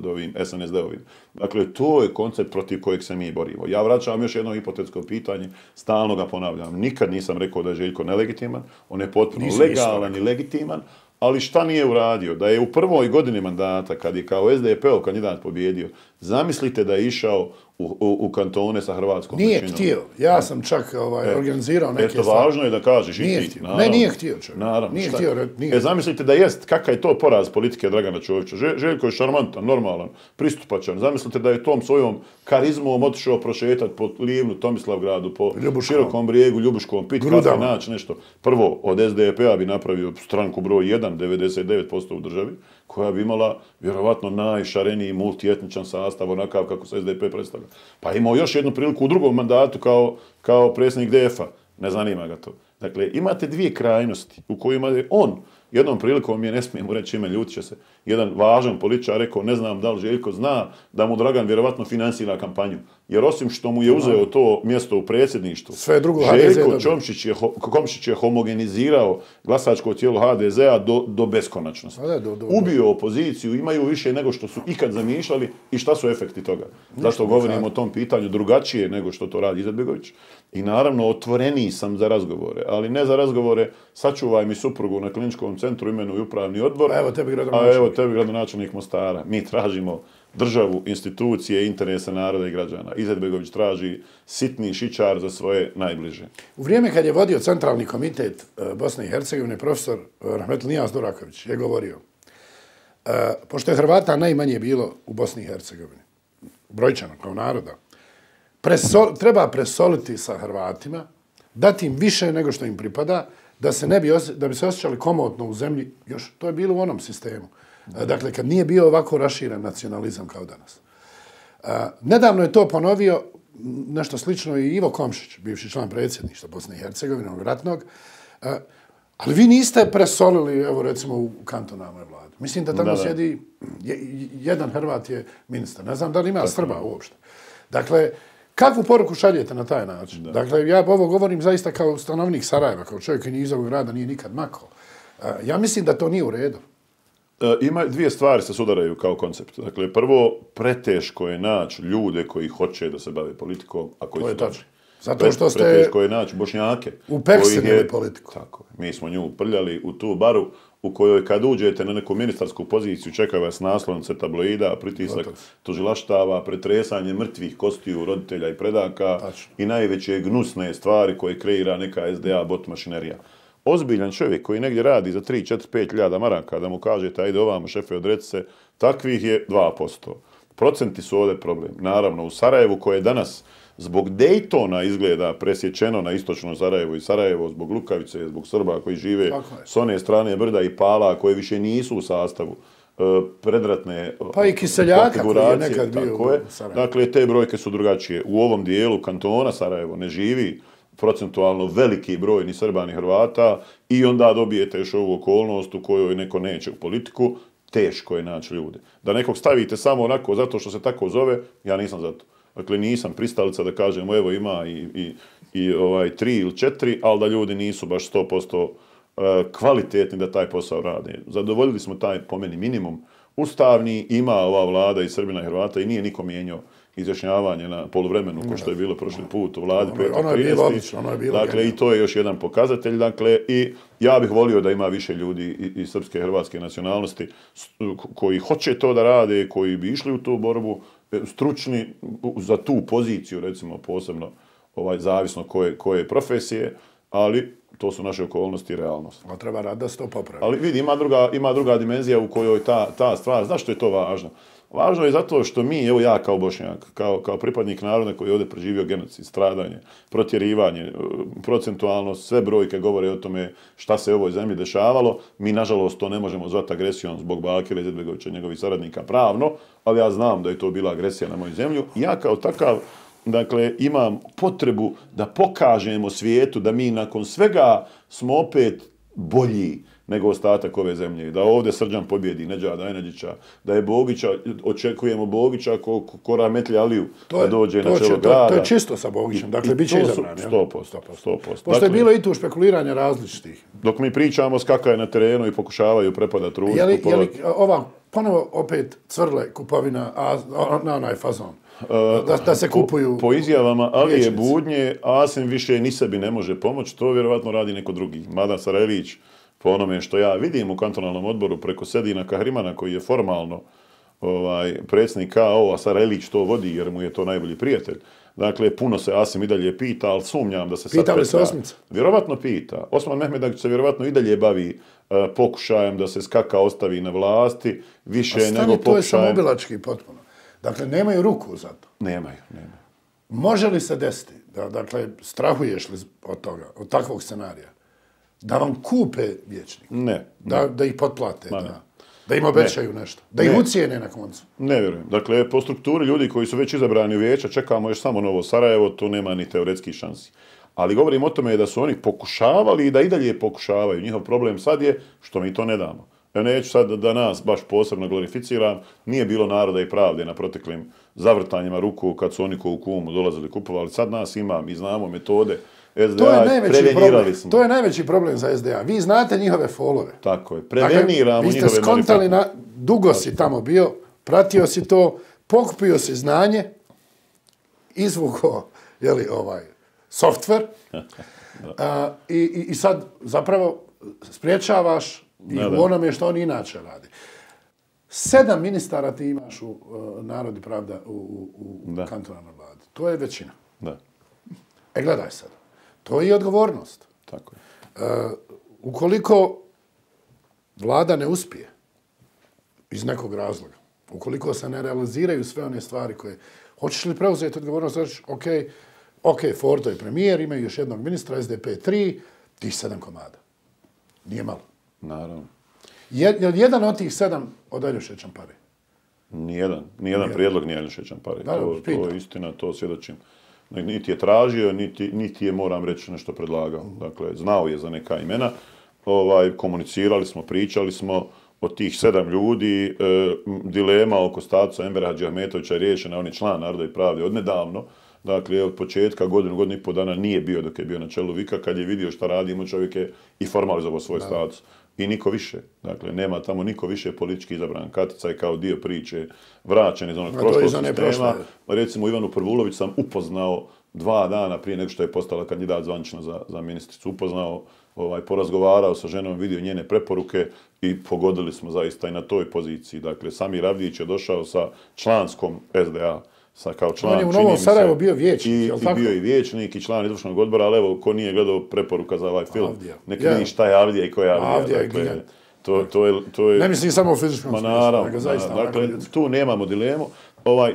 ovim SNSD-ovim. Dakle, to je koncept protiv kojeg se mi borimo. Ja vraćam još jedno hipotetsko pitanje, stalno ga ponavljam. Nikad nisam rekao da je Željko nelegitiman, on je potpuno legalan i legitiman, ali šta nije uradio? Da je u prvoj godini mandata, kad je kao SDP-ov kandidat pobjedio, zamislite da je išao u kantone sa hrvatskom većinom. Nije htio. Ja sam čak organizirao neke stvari. Eto, važno je da kažeš nije i ti. Htio. Ne, nije htio čovjek. Naravno. Nije htio. Zamislite da jest, kakav je to poraz politike Dragana Čovića. Željko je šarmantan, normalan, pristupačan. Zamislite da je tom svojom karizmom otišao prošetati po Livnu, Tomislavgradu, po Širokom brijegu, Ljubuškom, pit kafe, naći nešto. Prvo, od SDP-a bi napravio stranku broj 1, 99% u državi, koja bi imala vjerovatno najšareniji multietničan sastav, onakav kako se SDP predstavlja. Pa imao još jednu priliku u drugom mandatu kao predsjednik DF-a. Ne zanima ga to. Dakle, imate dvije krajnosti u kojima je on, jednom prilikom je, ne smijem mu reći ime, ljutit će se, jedan važan političar rekao, ne znam da li Željko zna da mu Dragan vjerovatno finansira kampanju. Jer osim što mu je uzeo to mjesto u predsjedništvu, Željko Komšić je homogenizirao glasačko tijelo HDZ-a do beskonačnosti. Ubio opoziciju, imaju više nego što su ikad zamišljali i šta su efekti toga. Zašto govorimo o tom pitanju drugačije nego što to radi Izetbegović. I naravno otvoreniji sam za razgovore, ali ne za razgovore sačuvaj mi suprugu na kliničkom centru, imenuj upravni odbor, a evo tebi gradonačelnik Mostara. Mi tražimo državu, institucije, interese naroda i građana. Izetbegović traži sitni šičar za svoje najbliže. U vrijeme kad je vodio centralni komitet Bosne i Hercegovine, profesor Rahmetli Nijaz Duraković je govorio, pošto je Hrvata najmanje bilo u Bosni i Hercegovini, brojčano kao naroda, treba presoliti sa Hrvatima, dati im više nego što im pripada, da bi se osjećali komotno u zemlji, još to je bilo u onom sistemu. Dakle, kad nije bio ovako raširen nacionalizam kao danas. Nedavno je to ponovio nešto slično i Ivo Komšić, bivši član predsjedništva Bosne i Hercegovine, ratnog. Ali vi niste presolili, evo recimo, u kantonalnoj vladi. Mislim da tamo sjedi, jedan Hrvat je ministar. Ne znam da li ima Srba uopšte. Dakle, kakvu poruku šaljete na taj način? Dakle, ja ovo govorim zaista kao stanovnik Sarajeva, kao čovjek koji iz ovog grada nije nikad makao. Ja mislim da to nije u redu. Ima dvije stvari se sudaraju kao koncept. Dakle, prvo, preteško je naći ljude koji hoće da se bave politikom, a koji to su tačno. Zato što ste preteško je naći Bošnjake. Upekstili politiku. Tako. Mi smo nju prljali u tu baru u kojoj kad uđete na neku ministarsku poziciju čeka vas naslovnice tabloida, pritisak tužilaštava, pretresanje mrtvih kostiju roditelja i predaka i najveće gnusne stvari koje kreira neka SDA bot mašinerija. Ozbiljan čovjek koji negdje radi za 3, 4, 5 hiljada maraka, da mu kažete, ajde ovamo šefe odreci se, takvih je 2%. Procenti su ovdje problem. Naravno, u Sarajevu koje danas zbog Dejtona izgleda presječeno na istočno Sarajevo i Sarajevo zbog Lukavice, zbog Srba koji žive s one strane brda i pala koje više nisu u sastavu predratne pa i Kiseljaka koji je nekad bio u Sarajevu. Dakle, te brojke su drugačije. U ovom dijelu kantona Sarajevo ne živi procentualno veliki broj ni Srba ni Hrvata i onda dobijete još ovu okolnost u kojoj neko neće u politiku, teško je naći ljude. Da nekog stavite samo onako zato što se tako zove, ja nisam za to. Dakle, nisam pristalica da kažem, evo ima i 3 ili 4, ali da ljudi nisu baš 100% kvalitetni da taj posao rade. Zadovoljili smo taj, po meni, minimum. Ustavni ima ova vlada i Srbina i Hrvata i nije niko mijenjao izjašnjavanje na poluvremenu, ko što je bilo prošli put u vladi. Ono je bilo odlično, ono je bilo. Dakle, i to je još jedan pokazatelj. Dakle, i ja bih volio da ima više ljudi iz srpske i hrvatske nacionalnosti koji hoće to da rade, koji bi išli u tu borbu, stručni za tu poziciju, recimo, posebno zavisno koje profesije, ali to su naše okolnosti i realnost. A treba rad da se to popravi. Ali vidi, ima druga dimenzija u kojoj ta stvar, zašto je to važno? Važno je zato što mi, evo ja kao Bošnjak, kao pripadnik naroda koji je ovdje preživio genocid, stradanje, protjerivanje, procentualno sve brojke govore o tome šta se u ovoj zemlji dešavalo. Mi, nažalost, to ne možemo zvati agresijom zbog Bakira Izetbegovića i njegovih saradnika pravno, ali ja znam da je to bila agresija na moju zemlju. Ja kao takav, dakle, imam potrebu da pokažemo svijetu da mi nakon svega smo opet bolji nego ostatak ove zemlje. Da ovdje Srđan pobjedi Nedžada Enedžića, da je Bogića, očekujemo Bogića ko Rahmetli Aliju da dođe na čelo grada. To je čisto sa Bogićem, dakle, bit će izabran. 100%. Pošto je bilo i tu špekuliranja različitih. Dok mi pričamo, skakaju na terenu i pokušavaju prepadati ružu. Je li ova ponovo opet cvrle kupovina na onaj fazon? Da se kupuju... Po izjavama Alije Budnje, Asim više ni sebi ne može pomoći, to vjerovatno radi neko drugi. Mada Sarajlić, po onome što ja vidim u kantonalnom odboru preko Sedina Kahrimana, koji je formalno predsjednik KO, a Sarajlić to vodi jer mu je to najbolji prijatelj. Dakle, puno se Asim i dalje pita, ali sumnjam da se sad... Pita li se Osmica? Vjerovatno pita. Osman Mehmedović se vjerovatno i dalje bavi pokušajem da se Skaka ostavi na vlasti, više nego pokušajem... To je samoubilački potpuno. Dakle, nemaju ruku za to. Nemaju. Može li se desiti, dakle, strahuješ li od toga, od takvog scenarija, da vam kupe vijećnik? Ne. Da ih potplate, da im obećaju nešto, da ih ucijene na koncu? Ne vjerujem. Dakle, po strukturi ljudi koji su već izabrani u vijeća, čekamo još samo Novo Sarajevo, tu nema ni teoretskih šansi. Ali govorim o tome da su oni pokušavali i da i dalje pokušavaju. Njihov problem sad je što mi to ne damo. Ja neću sad da nas baš posebno glorificiram, nije bilo Naroda i pravde na proteklim zavrtanjima ruku kad su oni ko u Kumu dolazili kupovali. Sad nas ima, mi znamo metode. SDA, prevenirali smo. To je najveći problem za SDA. Vi znate njihove folove. Tako je, preveniramo njihove... Vi ste skontali, dugo si tamo bio, pratio si to, pokupio si znanje, izvukao, softver i sad zapravo spriječavaš i u onome što on inače radi. 7 ministara ti imaš u Narod i pravda u kantonalnoj vladi. To je većina. Da. Gledaj sad. To je i odgovornost. Tako je. Ukoliko vlada ne uspije iz nekog razloga, ukoliko se ne realiziraju sve one stvari koje... Hoćeš li preuzeti odgovornost? Reći, ok, Fordo je premijer, imaju još jednog ministra, SDP 3, tih 7 komada. Nije malo. Naravno. Je li jedan od tih 7 od Aljoše Čampare? Nijedan prijedlog nije Aljoše Čampare. To je istina, to svjedočim. Niti je tražio, niti je, moram reći, nešto predlagao. Dakle, znao je za neka imena. Komunicirali smo, pričali smo od tih 7 ljudi. Dilema oko statusa Envera Hadžiahmetovića je riješena. On je član Naroda i pravde odnedavno. Dakle, od početka godinu i pol dana nije bio dok je bio na čelu Vika. Kad je vidio šta radimo, čovjek je i formalizovao svoj status. I niko više. Dakle, nema tamo niko više politički izabran. Katica je kao dio priče vraćen iz onog prošlog sistema. Recimo, Ivanu Prvulović sam upoznao 2 dana prije nego što je postala kandidat zvanično za ministricu. Upoznao, porazgovarao sa ženom, vidio njene preporuke i pogodili smo zaista i na toj poziciji. Dakle, Samir Avdić je došao sa članskom SDA. Kao član, on je u Novom Sarajevu bio vijećnik, je li tako? I bio i vijećnik i član izvršnog odbora, ali evo, ko nije gledao preporuka za ovaj film, nek vidi šta je Avdija i ko je Avdija. Avdija je gigant. To je... Ne mislim samo u fizičkom smislu. Naravno, dakle, tu nemamo dilemu.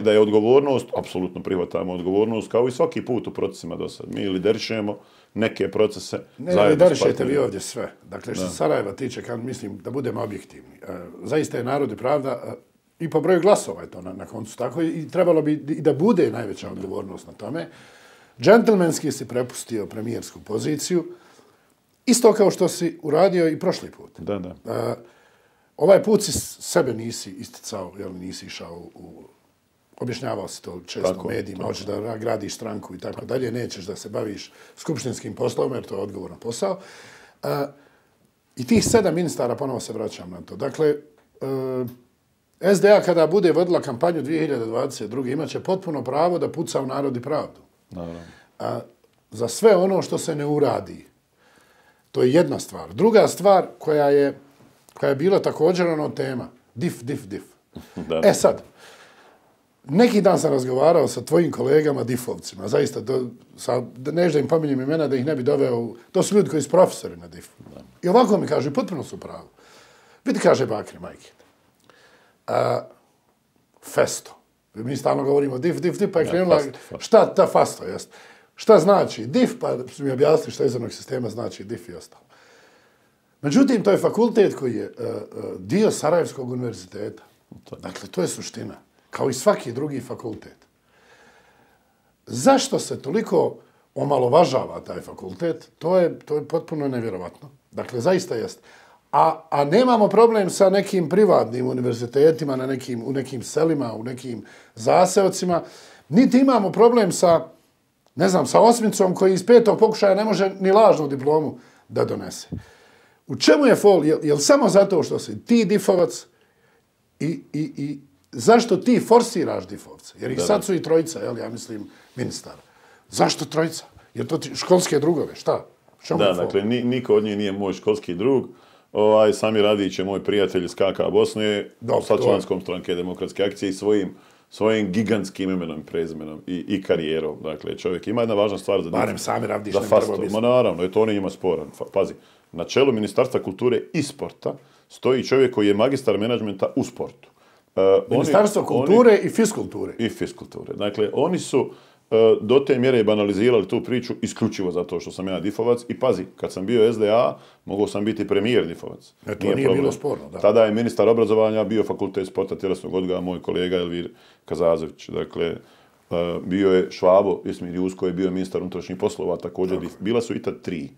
Da je odgovornost, apsolutno prihvatamo odgovornost, kao i svaki put u procesima do sad. Mi liderišemo neke procese. Ne liderišete vi ovdje sve. Dakle, što Sarajeva tiče, kad mislim da budemo objektivni. Zaista je Narod i pravda... I po broju glasova je to na koncu tako i trebalo bi i da bude najveća odgovornost na tome. Džentlmenski si prepustio premijersku poziciju, isto kao što si uradio i prošli put. Da. Ovaj put si sebe nisi isticao, nisi išao objašnjavao si to često u medijima, hoćeš da gradiš stranku i tako dalje, nećeš da se baviš skupštinskim poslom, jer to je odgovoran posao. I tih 7 ministara, ponovo se vraćam na to. Dakle, SDA kada bude vodila kampanju 2022. imat će potpuno pravo da puca u Narod i pravdu. Za sve ono što se ne uradi. To je jedna stvar. Druga stvar koja je bila također tema. Dif. Sad, neki dan sam razgovarao sa tvojim kolegama difovcima, zaista, nežda im pominjem imena da ih ne bi doveo, to su ljudi koji su profesori na difu. I ovako mi kaže, potpuno su pravo. Vidi, kaže Bakri Majkin, festo. Mi stalno govorimo dif, pa je krenula, šta ta fasto jest? Šta znači dif, pa su mi objasnili šta iz onog sistema znači dif i ostalo. Međutim, to je fakultet koji je dio Sarajevskog univerziteta. Dakle, to je suština. Kao i svaki drugi fakultet. Zašto se toliko omalovažava taj fakultet? To je potpuno nevjerovatno. Dakle, zaista jest. A nemamo problem sa nekim privatnim univerzitetima u nekim selima, u nekim zaseocima. Niti imamo problem sa, ne znam, sa Osmicom koji iz 5. pokušaja ne može ni lažnu diplomu da donese. U čemu je fol? Je li samo zato što si ti difovac i zašto ti forsiraš difovce? Jer ih sad su i trojica, ja mislim, ministar. Zašto trojica? Jer to ti školske drugove, šta? Da, dakle, niko od njih nije moj školski drug. Sami Radić je moj prijatelj iz KK Bosne, sa članskom stranke Demokratske akcije i svojim gigantskim imenom i prezimenom i karijerom. Dakle, čovjek ima jedna važna stvar za difu. Barem Sami Radić ne treba biti. Ma naravno, to on njima sporan. Pazi, na čelu Ministarstva kulture i sporta stoji čovjek koji je magistar menadžmenta u sportu. Ministarstvo kulture i fiskulture. I fiskulture. Dakle, oni su do te mjere banalizirali tu priču isključivo zato što sam ja difovac. I pazi, kad sam bio SDA, mogao sam biti premijer difovac. To nije bilo sporno, da. Tada je ministar obrazovanja, bio fakultet sporta tjelesnog odgoja, moj kolega Elvir Kazazović. Dakle, bio je Švabo, Ismir Jusko je bio ministar unutrašnjih poslova, također. Bila su i tad 3.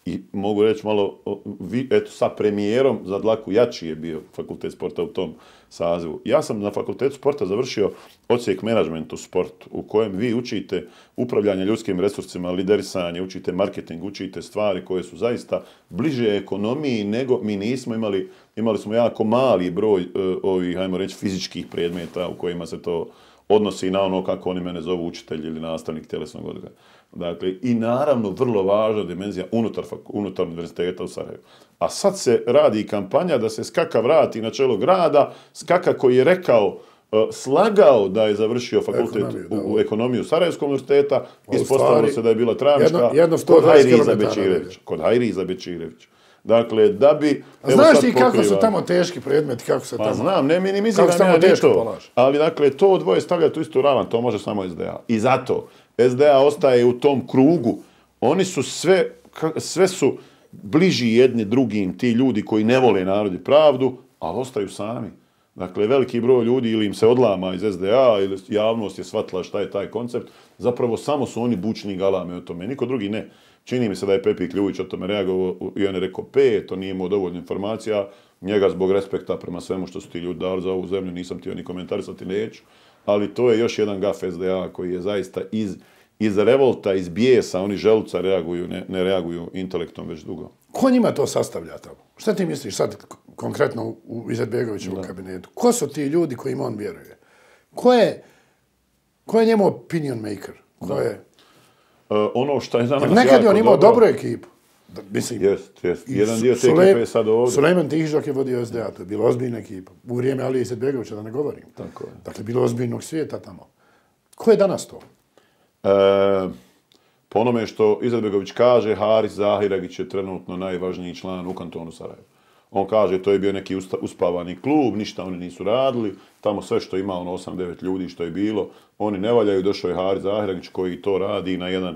I mogu reći malo, eto, sa premijerom za dlaku jači je bio fakultet sporta u tom sazivu. Ja sam na fakultetu sporta završio odsjek menadžment u sportu, u kojem vi učite upravljanje ljudskim resursima, liderisanje, učite marketing, učite stvari koje su zaista bliže ekonomiji nego mi nismo imali smo jako mali broj ovih, hajmo reći, fizičkih predmeta u kojima se to odnosi na ono kako oni mene zovu učitelj ili nastavnik tjelesnog odgoja. Dakle, i naravno vrlo važna dimenzija unutar univerziteta u Sarajevu. A sad se radi kampanja da se Skaka vrati na čelo grada, Skaka koji je rekao, slagao da je završio fakultet u ekonomiju Sarajevskog univerziteta, ispostavilo se da je bila travnička kod Hajriza Bečirevića. Dakle, da bi... Znaš ti kako su tamo teški predmeti, kako se tamo... Pa znam, ne minimiziram ja ni to. Ali dakle, to dvoje stavljati u istu ravan, to može samo SDA. I zato SDA ostaje u tom krugu. Oni su sve su bliži jedni drugim, ti ljudi koji ne vole narod i pravdu, ali ostaju sami. Dakle, veliki broj ljudi ili im se odlama iz SDA ili javnost je shvatila šta je taj koncept. Zapravo samo su oni bučni galame o tome, niko drugi ne. Čini mi se da je Pepi Kljuvić o tome reagovao i on je rekao 5, to nije imao dovoljno informacija. Njega zbog respekta prema svemu što su ti ljudi dali za ovu zemlju, nisam htio ni komentarisati, neću. Ali to je još jedan gaf SDA koji je zaista iz revolta, iz bijesa, oni želuca reaguju, ne reaguju intelektom već dugo. Ko njima to sastavlja tamo? Šta ti misliš sad konkretno u Izetbegovićevom kabinetu? Ko su ti ljudi kojima on vjeruje? Ko je njemu opinion maker? Ko je... ono što je danas nekad je on imao dobru ekipu. Mislim, jest. Jedan dio te ekipe je sad ovdje. Sulejman Tihižok je vodio SDA, to je bila ozbiljna ekipa. U vrijeme Alije Izetbegovića, da ne govorim. Tako je. Dakle, bilo ozbiljnog svijeta tamo. Ko je danas to? Po onome što Izetbegović kaže, Haris Zahiragić je trenutno najvažniji član u kantonu Sarajevo. On kaže, to je bio neki uspavani klub, ništa oni nisu radili, tamo sve što ima, 8-9 ljudi što je bilo, oni ne valjaju, došao je Haris Zahiragić koji to radi na jedan,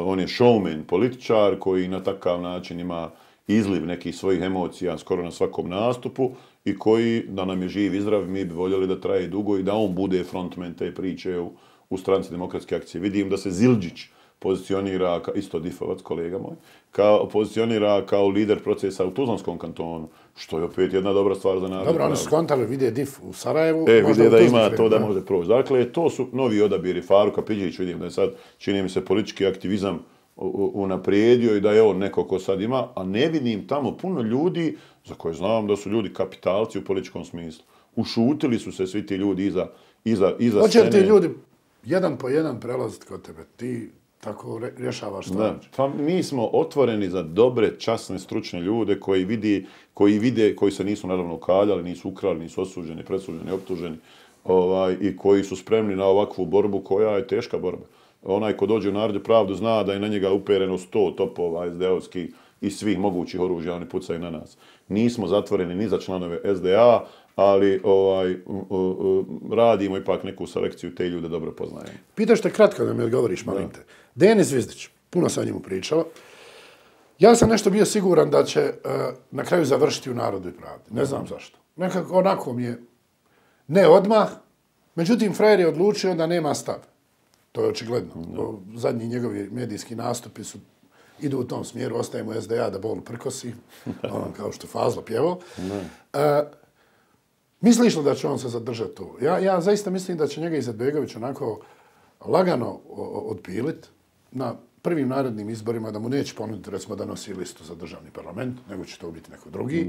on je showman, političar koji na takav način ima izliv nekih svojih emocija skoro na svakom nastupu i koji, da nam je živ i zdrav, mi bi voljeli da traje dugo i da on bude frontman te priče u stranci Demokratske akcije. Vidim da se Zildžić pozicionira, isto difovac, kolega moj, pozicionira kao lider procesa u Tuzlanskom kantonu, što je opet jedna dobra stvar za narod. Dobro, oni su skontali, vide dif u Sarajevu. Vide da ima to da može proći. Dakle, to su novi odabiri. Faruka Pidžić, vidim da je sad, čini mi se, politički aktivizam unaprijedio i da je on neko ko sad ima, a ne vidim tamo puno ljudi za koje znam da su ljudi kapitalci u političkom smislu. Ušutili su se svi ti ljudi iza scene. Hoće li ti ljudi jedan po jedan prelaziti kod tebe? Ti tako rješavaš stvar. Pa mi smo otvoreni za dobre, časne, stručne ljude koji se nisu naravno ukaljali, nisu ukrali, nisu osuđeni, presuđeni, optuženi. i koji su spremni na ovakvu borbu koja je teška borba. Onaj ko dođe u Narod i pravdu zna da je na njega upereno 100 topova SD-ovskih i svih mogućih oružja, oni pucaju na nas. Nismo zatvoreni ni za članove SDA, ali radimo ipak neku selekciju, te ljude dobro poznajemo. Pitaš te kratko da mi odgovoriš, molim te. Denis Zvizdić, puno sam o njemu pričao. Ja sam nešto bio siguran da će na kraju završiti u Narodu i pravdi. Ne znam zašto. Nekako onako mi je, ne odmah, međutim, frajer je odlučio da nema stav. To je očigledno. Zadnji njegovi medijski nastupi idu u tom smjeru, ostajemo u SDA da bolu prkosi, kao što Fazlo pjevao. Misliš li da će on se zadržati tu? Ja zaista mislim da će njega Izetbegović onako lagano odpilit na prvim narednim izborima, da mu neće ponuditi, recimo, da nosi listu za državni parlament, nego će to biti neko drugi.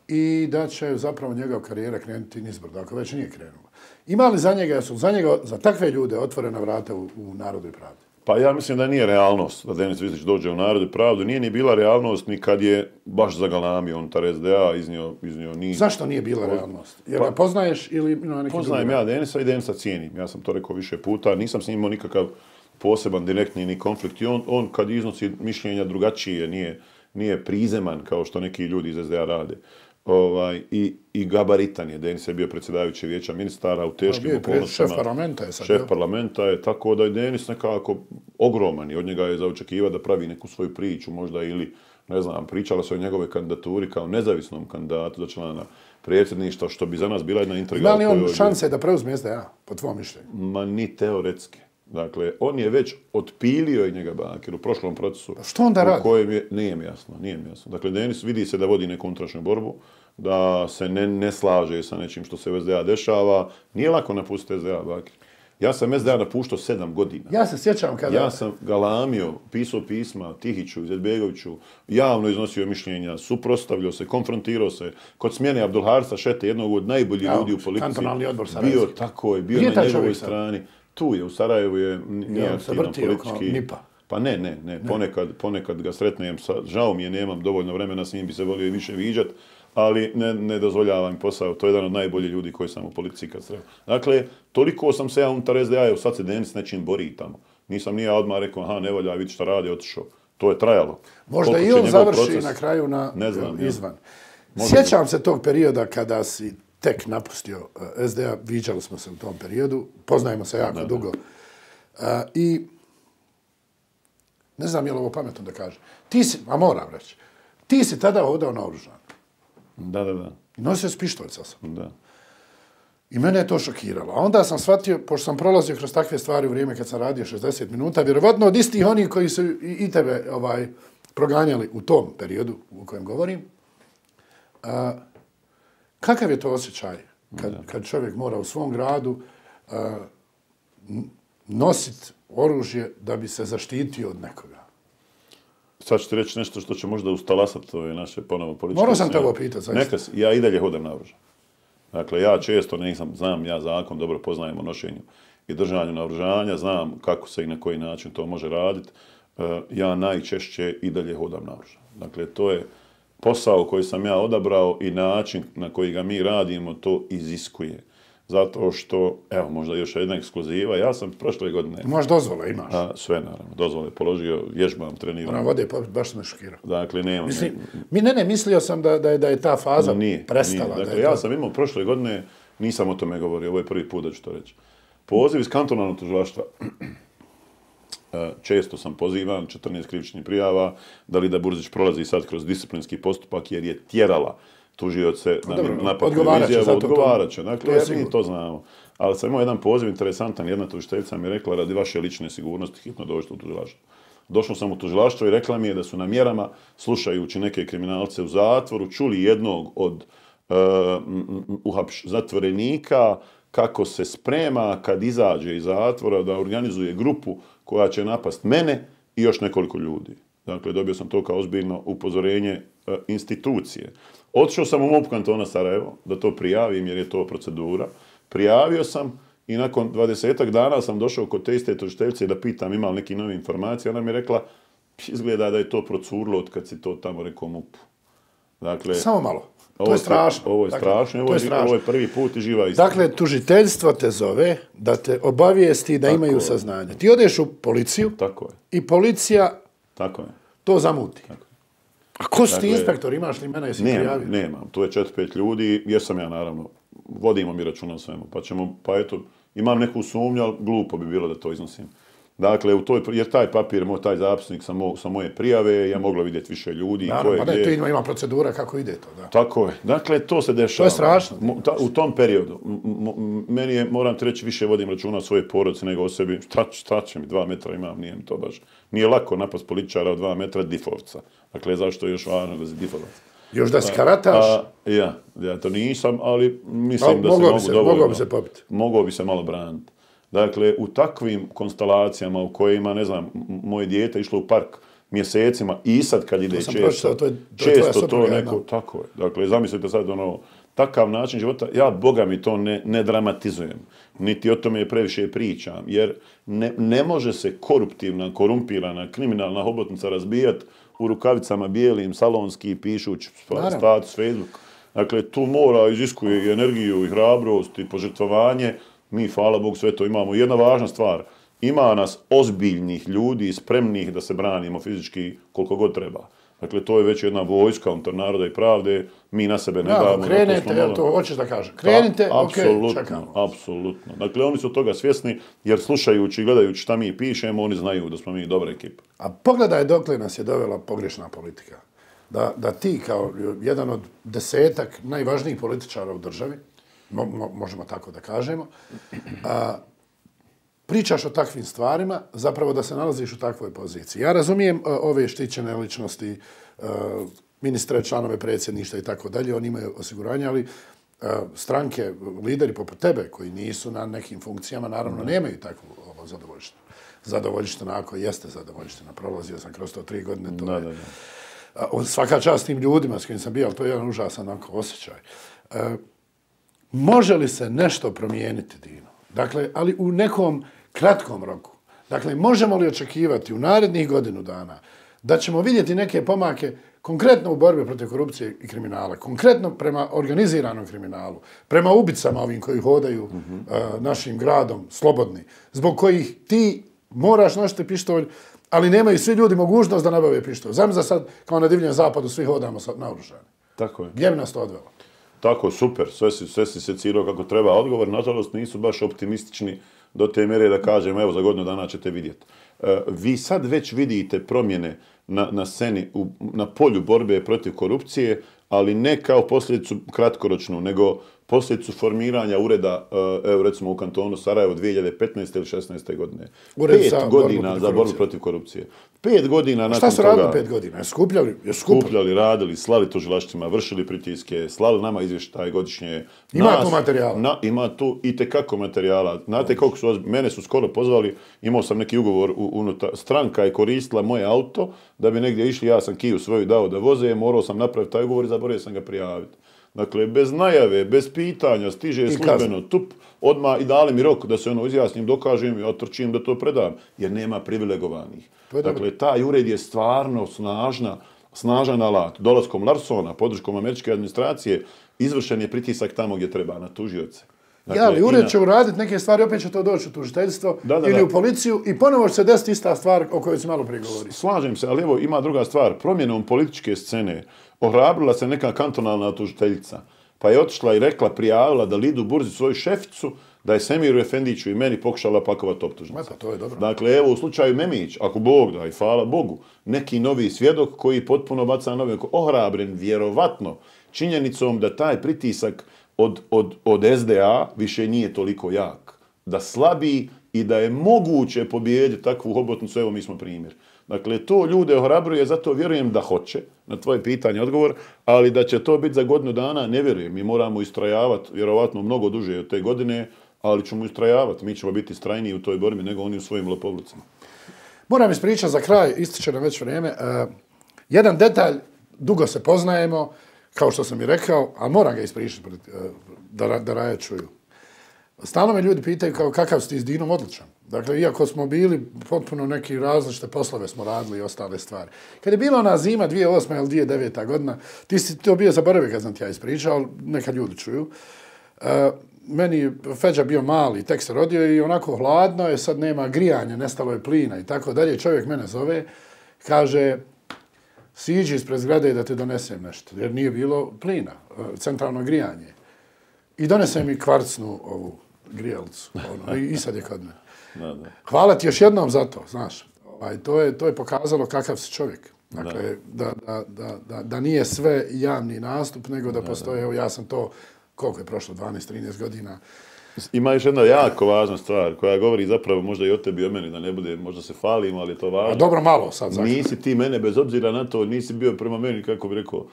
I da će zapravo njegov karijera krenuti nizbrdo, ako već nije krenula. Ima li za takve ljude otvorena vrata u Narodu i pravdi? Pa ja mislim da nije realnost da Denis Zvizdić dođe u Narod i pravdu. Nije ni bila realnost ni kad je baš zagalamio unutar SDA, iznio niz. Zašto nije bila realnost? Jer ga poznaješ ili na neki Poznajem ja Denisa i Denisa cijenim. Ja sam to rekao više puta. Nisam s njim imao nikakav poseban, direktni ni konflikt. I on kad iznosi mišljenja drugačije, nije prizeman kao što neki ljudi iz SDA rade. I gabaritan je. Denis je bio predsjedavajući vijeća ministara u teškim okolnostima. Šef parlamenta je sad. Šef parlamenta je, tako da je Denis nekako ogroman i od njega je za očekivati da pravi neku svoju priču možda ili, ne znam, pričala se o njegove kandidaturi kao nezavisnom kandidatu za člana predsjedništva, što bi za nas bila jedna intriga. Ima li on šanse da preuzme SDA, po tvom mišljenju? Ma ni teoretski. Dakle, on je već otpilio i njega Bakir u prošlom procesu. Što onda radi? Nije mi jasno. Dakle, Denis vidi se da vodi neku unutrašnju borbu, da se ne slaže sa nečim što se u SDA dešava. Nije lako napustiti SDA, Bakir. Ja sam SDA napuštao 7 godina. Ja se sjećam kada... Ja sam galamio, pisao pisma Tihiću, Izetbegoviću, javno iznosio mišljenja, suprotstavljao se, konfrontirao se. Kod smjene Abdulharsa Šete, jednog od najboljih ljudi u politici. Kantonalni odbor Sarajevski. Bio na njegovoj strani. Tu je, u Sarajevu je nije aktivan politički. Pa ne. Ponekad ga sretnem, žao mi je, nemam dovoljno vremena, s njim bi se volio i više viđat, ali ne dozvoljavam posao. To je jedan od najboljih ljudi koji sam u politici kad sreo. Dakle, toliko sam se ja unutar SDA, sad se Denis nečim bori tamo. Nisam ni ja odmah rekao, ne valja, vidi šta radi, otišao. To je trajalo. Možda i on završi na kraju izvan. Sjećam se tog perioda kada si tek napustio SDA, viđali smo se u tom periodu, poznajemo se jako dugo. I ne znam je li ovo pametno da kažem. Ti si, a moram reći, ti si tada hodao naoružan. Da. I nosio si pištolj sa sobom. Da. I mene je to šokiralo. A onda sam shvatio, pošto sam prolazio kroz takve stvari u vrijeme kad sam radio 60 minuta, vjerovatno od istih onih koji su i tebe proganjali u tom periodu u kojem govorim, kakav je to osjećaj kad čovjek mora u svom gradu nositi oružje da bi se zaštitio od nekoga? Sad ću ti reći nešto što će možda ustalasati ove naše ponovo političke... Morao sam te ovo pitati, zaista. Ja i dalje hodam naoružan. Dakle, ja često znam ja zakon, dobro poznajem o nošenju i držanju naoružanja, znam kako se i na koji način to može raditi. Ja najčešće i dalje hodam naoružan. Dakle, to je posao koji sam ja odabrao i način na koji ga mi radimo to iziskuje. Zato što, evo, možda još jedna ekskluziva, ja sam prošle godine... Imaš dozvole, imaš? Sve, naravno. Dozvole položio, vježbam, treniram. Ona vode, baš me šokirao. Dakle, nemam... mislio sam da je ta faza prestala. Dakle, ja sam imao prošle godine, nisam o tome govorio, ovo je prvi put da ću to reći. Poziv iz kantonalnog tužilaštva. Često sam pozivan, 14 krivičnih prijava, Dalida Burzić prolazi sad kroz disciplinski postupak jer je tjerala tužioce na napad izjavu, odgovarat će. Dakle, mi to znamo. Ali sam imao jedan poziv interesantan, jedna tužiteljica mi je rekla radi vaše lične sigurnosti hitno dođete u tužilaštvo. Došao sam u tužilaštvo i rekla mi je da su na mjerama, slušajući neke kriminalce u zatvoru, čuli jednog od zatvorenika kako se sprema kad izađe iz zatvora da organizuje grupu koja će napast mene i još nekoliko ljudi. Dakle, dobio sam to kao ozbiljno upozorenje institucije. Otišao sam u MUP kantona Sarajevo da to prijavim jer je to procedura. Prijavio sam i nakon 20 dana sam došao kod te iste tužiteljice da pitam ima li neki novi informacije. Ona mi je rekla, izgleda da je to procurlo od kad si to tamo rekao MUP. Dakle, samo malo. To je strašno. Ovo je strašno, ovo je prvi put i živa istina. Dakle, tužiteljstvo te zove da te obavijesti da imaju saznanje. Ti odeš u policiju i policija to zamuti. A ko su ti inspektor? Imaš li mene, jesi prijavio? Nemam, to je 4-5 ljudi, jesam ja naravno, vodimo mi računa o svemu, pa eto, imam neku sumnju, ali glupo bi bilo da to iznosim. Dakle, jer taj papir, taj zapisnik sa moje prijave, ja mogla vidjeti više ljudi. Naravno, pa tu ima procedura kako ide to. Da. Tako je. Dakle, to se dešava. To je strašno. U tom periodu, meni je, moram ti reći, više vodim računa o svojoj porodici nego o sebi. Šta će mi, 2 metra imam, nije mi to baš. Nije lako napast političara od 2 metra difovca. Dakle, zašto je još važno da si difovac? Još da si karataš? Ja to nisam, ali mislim da se mogu dovoljno. Mogao bi se popiti. Mogao bi se malo braniti. Dakle, u takvim konstalacijama u kojima, ne znam, moje dijete išlo u park mjesecima i sad kad ide često to neko, tako je. Dakle, zamislite sad takav način života, ja, Boga mi to ne dramatizujem, niti o tome previše pričam, jer ne može se koruptivna, korumpirana, kriminalna hobotnica razbijati u rukavicama bijelim, salonski, pišući status, Facebook. Dakle, tu mora iziskuje i energiju, i hrabrost, i požrtvovanje. Mi, hvala Bogu, sve to imamo. Jedna važna stvar, ima nas ozbiljnih ljudi, spremnih da se branimo fizički koliko god treba. Dakle, to je već jedna vojska unutar Naroda i pravde, mi na sebe ne damo. Krenete, to hoćeš da kažem. Krenite, okej, čekamo. Apsolutno. Dakle, oni su toga svjesni, jer slušajući i gledajući šta mi pišemo, oni znaju da smo mi dobra ekipa. A pogledaj dokle nas je dovela pogrešna politika. Da ti, kao jedan od 10 najvažnijih političara u državi, možemo tako da kažemo, pričaš o takvim stvarima, zapravo da se nalaziš u takvoj poziciji. Ja razumijem ove štićene ličnosti, ministre, članove predsjedništva i tako dalje, oni imaju osiguranje, ali stranke, lideri poput tebe, koji nisu na nekim funkcijama, naravno nemaju takvu zadovoljštinu. Zadovoljština, ako jeste zadovoljština, prolazio sam kroz to 3 godine, to je... Svaka čast tim ljudima s kojim sam bio, ali to je jedan užasan osjećaj. Može li se nešto promijeniti, Dino? Dakle, ali u nekom kratkom roku. Dakle, možemo li očekivati u narednih godinu dana da ćemo vidjeti neke pomake konkretno u borbi protiv korupcije i kriminala, konkretno prema organiziranom kriminalu, prema ubicama ovim koji hodaju našim gradom slobodni, zbog kojih ti moraš nositi pištolj, ali nemaju svi ljudi mogućnost da nabave pištolj. Zamisli sad, kao na divljem zapadu, svi hodamo naoružani. Tako je. Gdje bi nas to odvelo? Tako, super, sve si se ciljao kako treba. Odgovor, nažalost, nisu baš optimistični do te mjere da kažem, evo, za godinu dana ćete vidjeti. Vi sad već vidite promjene na sceni, na polju borbe protiv korupcije, ali ne kao posljedicu kratkoročnu, nego posljedicu formiranja ureda, evo recimo u kantonu Sarajevo 2015. ili 16. godine. 5 godina za borbu protiv korupcije. 5 godina nakon toga... Šta su radili 5 godina? Skupljali, radili, slali tužilaštvima, vršili pritiske, slali nama izvještaj godišnje. Ima tu materijala? Ima tu i tekako materijala. Znate koliko su... Mene su skoro pozvali, imao sam neki ugovor unutar... Stranka je koristila moje auto da bi negdje išli, ja sam Kiju svoju dao da voze, morao sam napraviti taj ugovor i zaboravio sam ga prijaviti. Dakle, bez najave, bez pitanja, stiže službeno tup, odmah i dali mi rok da se izjasnim, dokažem i otrčim da to predam, jer nema privilegovanih. Dakle, taj ured je stvarno snažan alat. Dolaskom Larsona, podrškom američke administracije, izvršen je pritisak tamo gdje treba, na tužioce. Dakle, ali ured će uraditi neke stvari, opet će to doći u tužiteljstvo ili u policiju i ponovo će se desiti ista stvar o kojoj se malo prigovori. Slažem se, ali evo ima druga stvar. Promjenom političke scene ohrabrila se neka kantonalna tužiteljica, pa je otišla i rekla, prijavila da Lidu Burzi svoju šeficu, da je Semiru Efendiću i meni pokušala pakovati optužnice. To je dobro. Dakle, evo u slučaju Memić, ako Bog da i hvala Bogu, neki novi svjedok koji potpuno baca novi, ohrabren vjerovatno činjenicom da taj pritisak od SDA više nije toliko jak, da slabi i da je moguće pobijediti takvu hobotnicu, evo mi smo primjer. Dakle, to ljude ohrabruje, zato vjerujem da hoće, na tvoje pitanje odgovor, ali da će to biti za godinu dana, ne vjerujem. Mi moramo istrajavati, vjerovatno mnogo duže od te godine, ali ćemo istrajavati. Mi ćemo biti strajniji u toj borbi nego oni u svojim lopovlucima. Moram ispričati za kraj, ističe nam već vrijeme. Jedan detalj, dugo se poznajemo, kao što sam i rekao, a moram ga ispričati da Raja čuju. Stalno me ljudi pitaju kao kakav si ti s Dinom odličan. Dakle, iako smo bili potpuno neki različite poslove smo radili i ostale stvari. Kad je bila ona zima 2008. ili 2009. godina, ti si to bio zaboravio kad sam ti ja ispričao, ali neka ljudi čuju. Meni Feđa bio mali, tek se rodio i onako hladno je, sad nema grijanja, nestalo je plina i tako dalje. Čovjek mene zove, kaže, siđi ispred zgrade da ti donesem nešto, jer nije bilo plina, centralno grijanje. I donese mi kvarcnu ovu grijelcu, i sad je kod mene. Hvala ti još jednom za to, znaš. To je pokazalo kakav si čovjek. Dakle, da nije sve javni nastup, nego da postoje, evo ja sam to, koliko je prošlo, 12-13 godina. Ima još jedna jako važna stvar koja govori zapravo možda i o tebi i o meni, da ne bude, možda se falim, ali je to važno. A dobro malo sad. Nisi ti mene, bez obzira na to, nisi bio prema meni, kako bi rekao,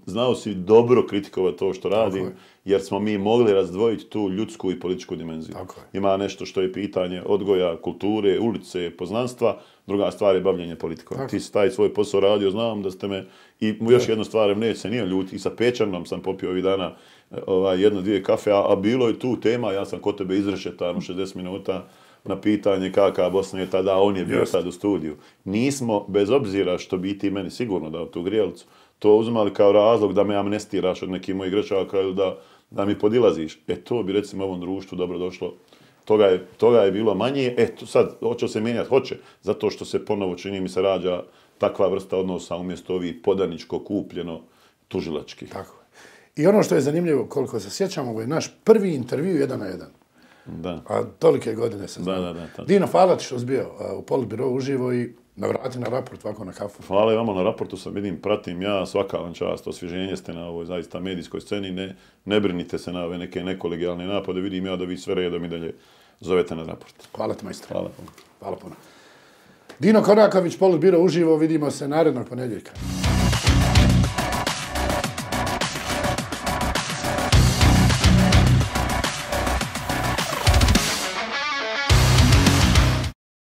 znao si dobro kritikovati to što radim, jer smo mi mogli razdvojiti tu ljudsku i političku dimenziju. Ima nešto što je pitanje odgoja, kulture, ulice, poznanstva, druga stvar je bavljenje politikom. Ti si taj svoj posao radio, znam da ste me, i još jednu stvar, neće se nije ljuti, i sa Pečanom sam popio ovih dana jedno, dvije kafe, a bilo je tu tema, ja sam kod tebe izrešetan u 60 minuta na pitanje kakva Bosna je tada, on je bio sad u studiju. Nismo, bez obzira što bi ti meni sigurno dao tu grijelcu, to uzmali kao razlog da me amnestiraš od nekih mojih grešaka ili da mi podilaziš. To bi recimo ovom društvu dobro došlo. Toga je bilo manje. Sad, hoće se mijenjati? Hoće. Zato što se ponovo, čini mi se, rađa takva vrsta odnosa umjesto ovih podaničko kupljeno tužilačkih. Tako je. I ono što je zanimljivo, koliko se sjećamo, ovo je naš prvi intervju 1 na 1. Da. A tolike godine se zna. Dino, hvala ti što si bio u Politbiro uživo i navrati na raport ovako na kafu. Hvala i vama na raportu, sam vidim, pratim ja, svaka vam čast, osvježenje ste na ovoj zaista medijskoj sceni, ne brinite se na ove neke nekolegijalne napade, vidim ja da vi sve redom i dalje zovete na raport. Hvala ti, majstor. Hvala. Hvala puno. Dino Koraković, Politbiro uživo, vidimo se narednog ponedjeljka.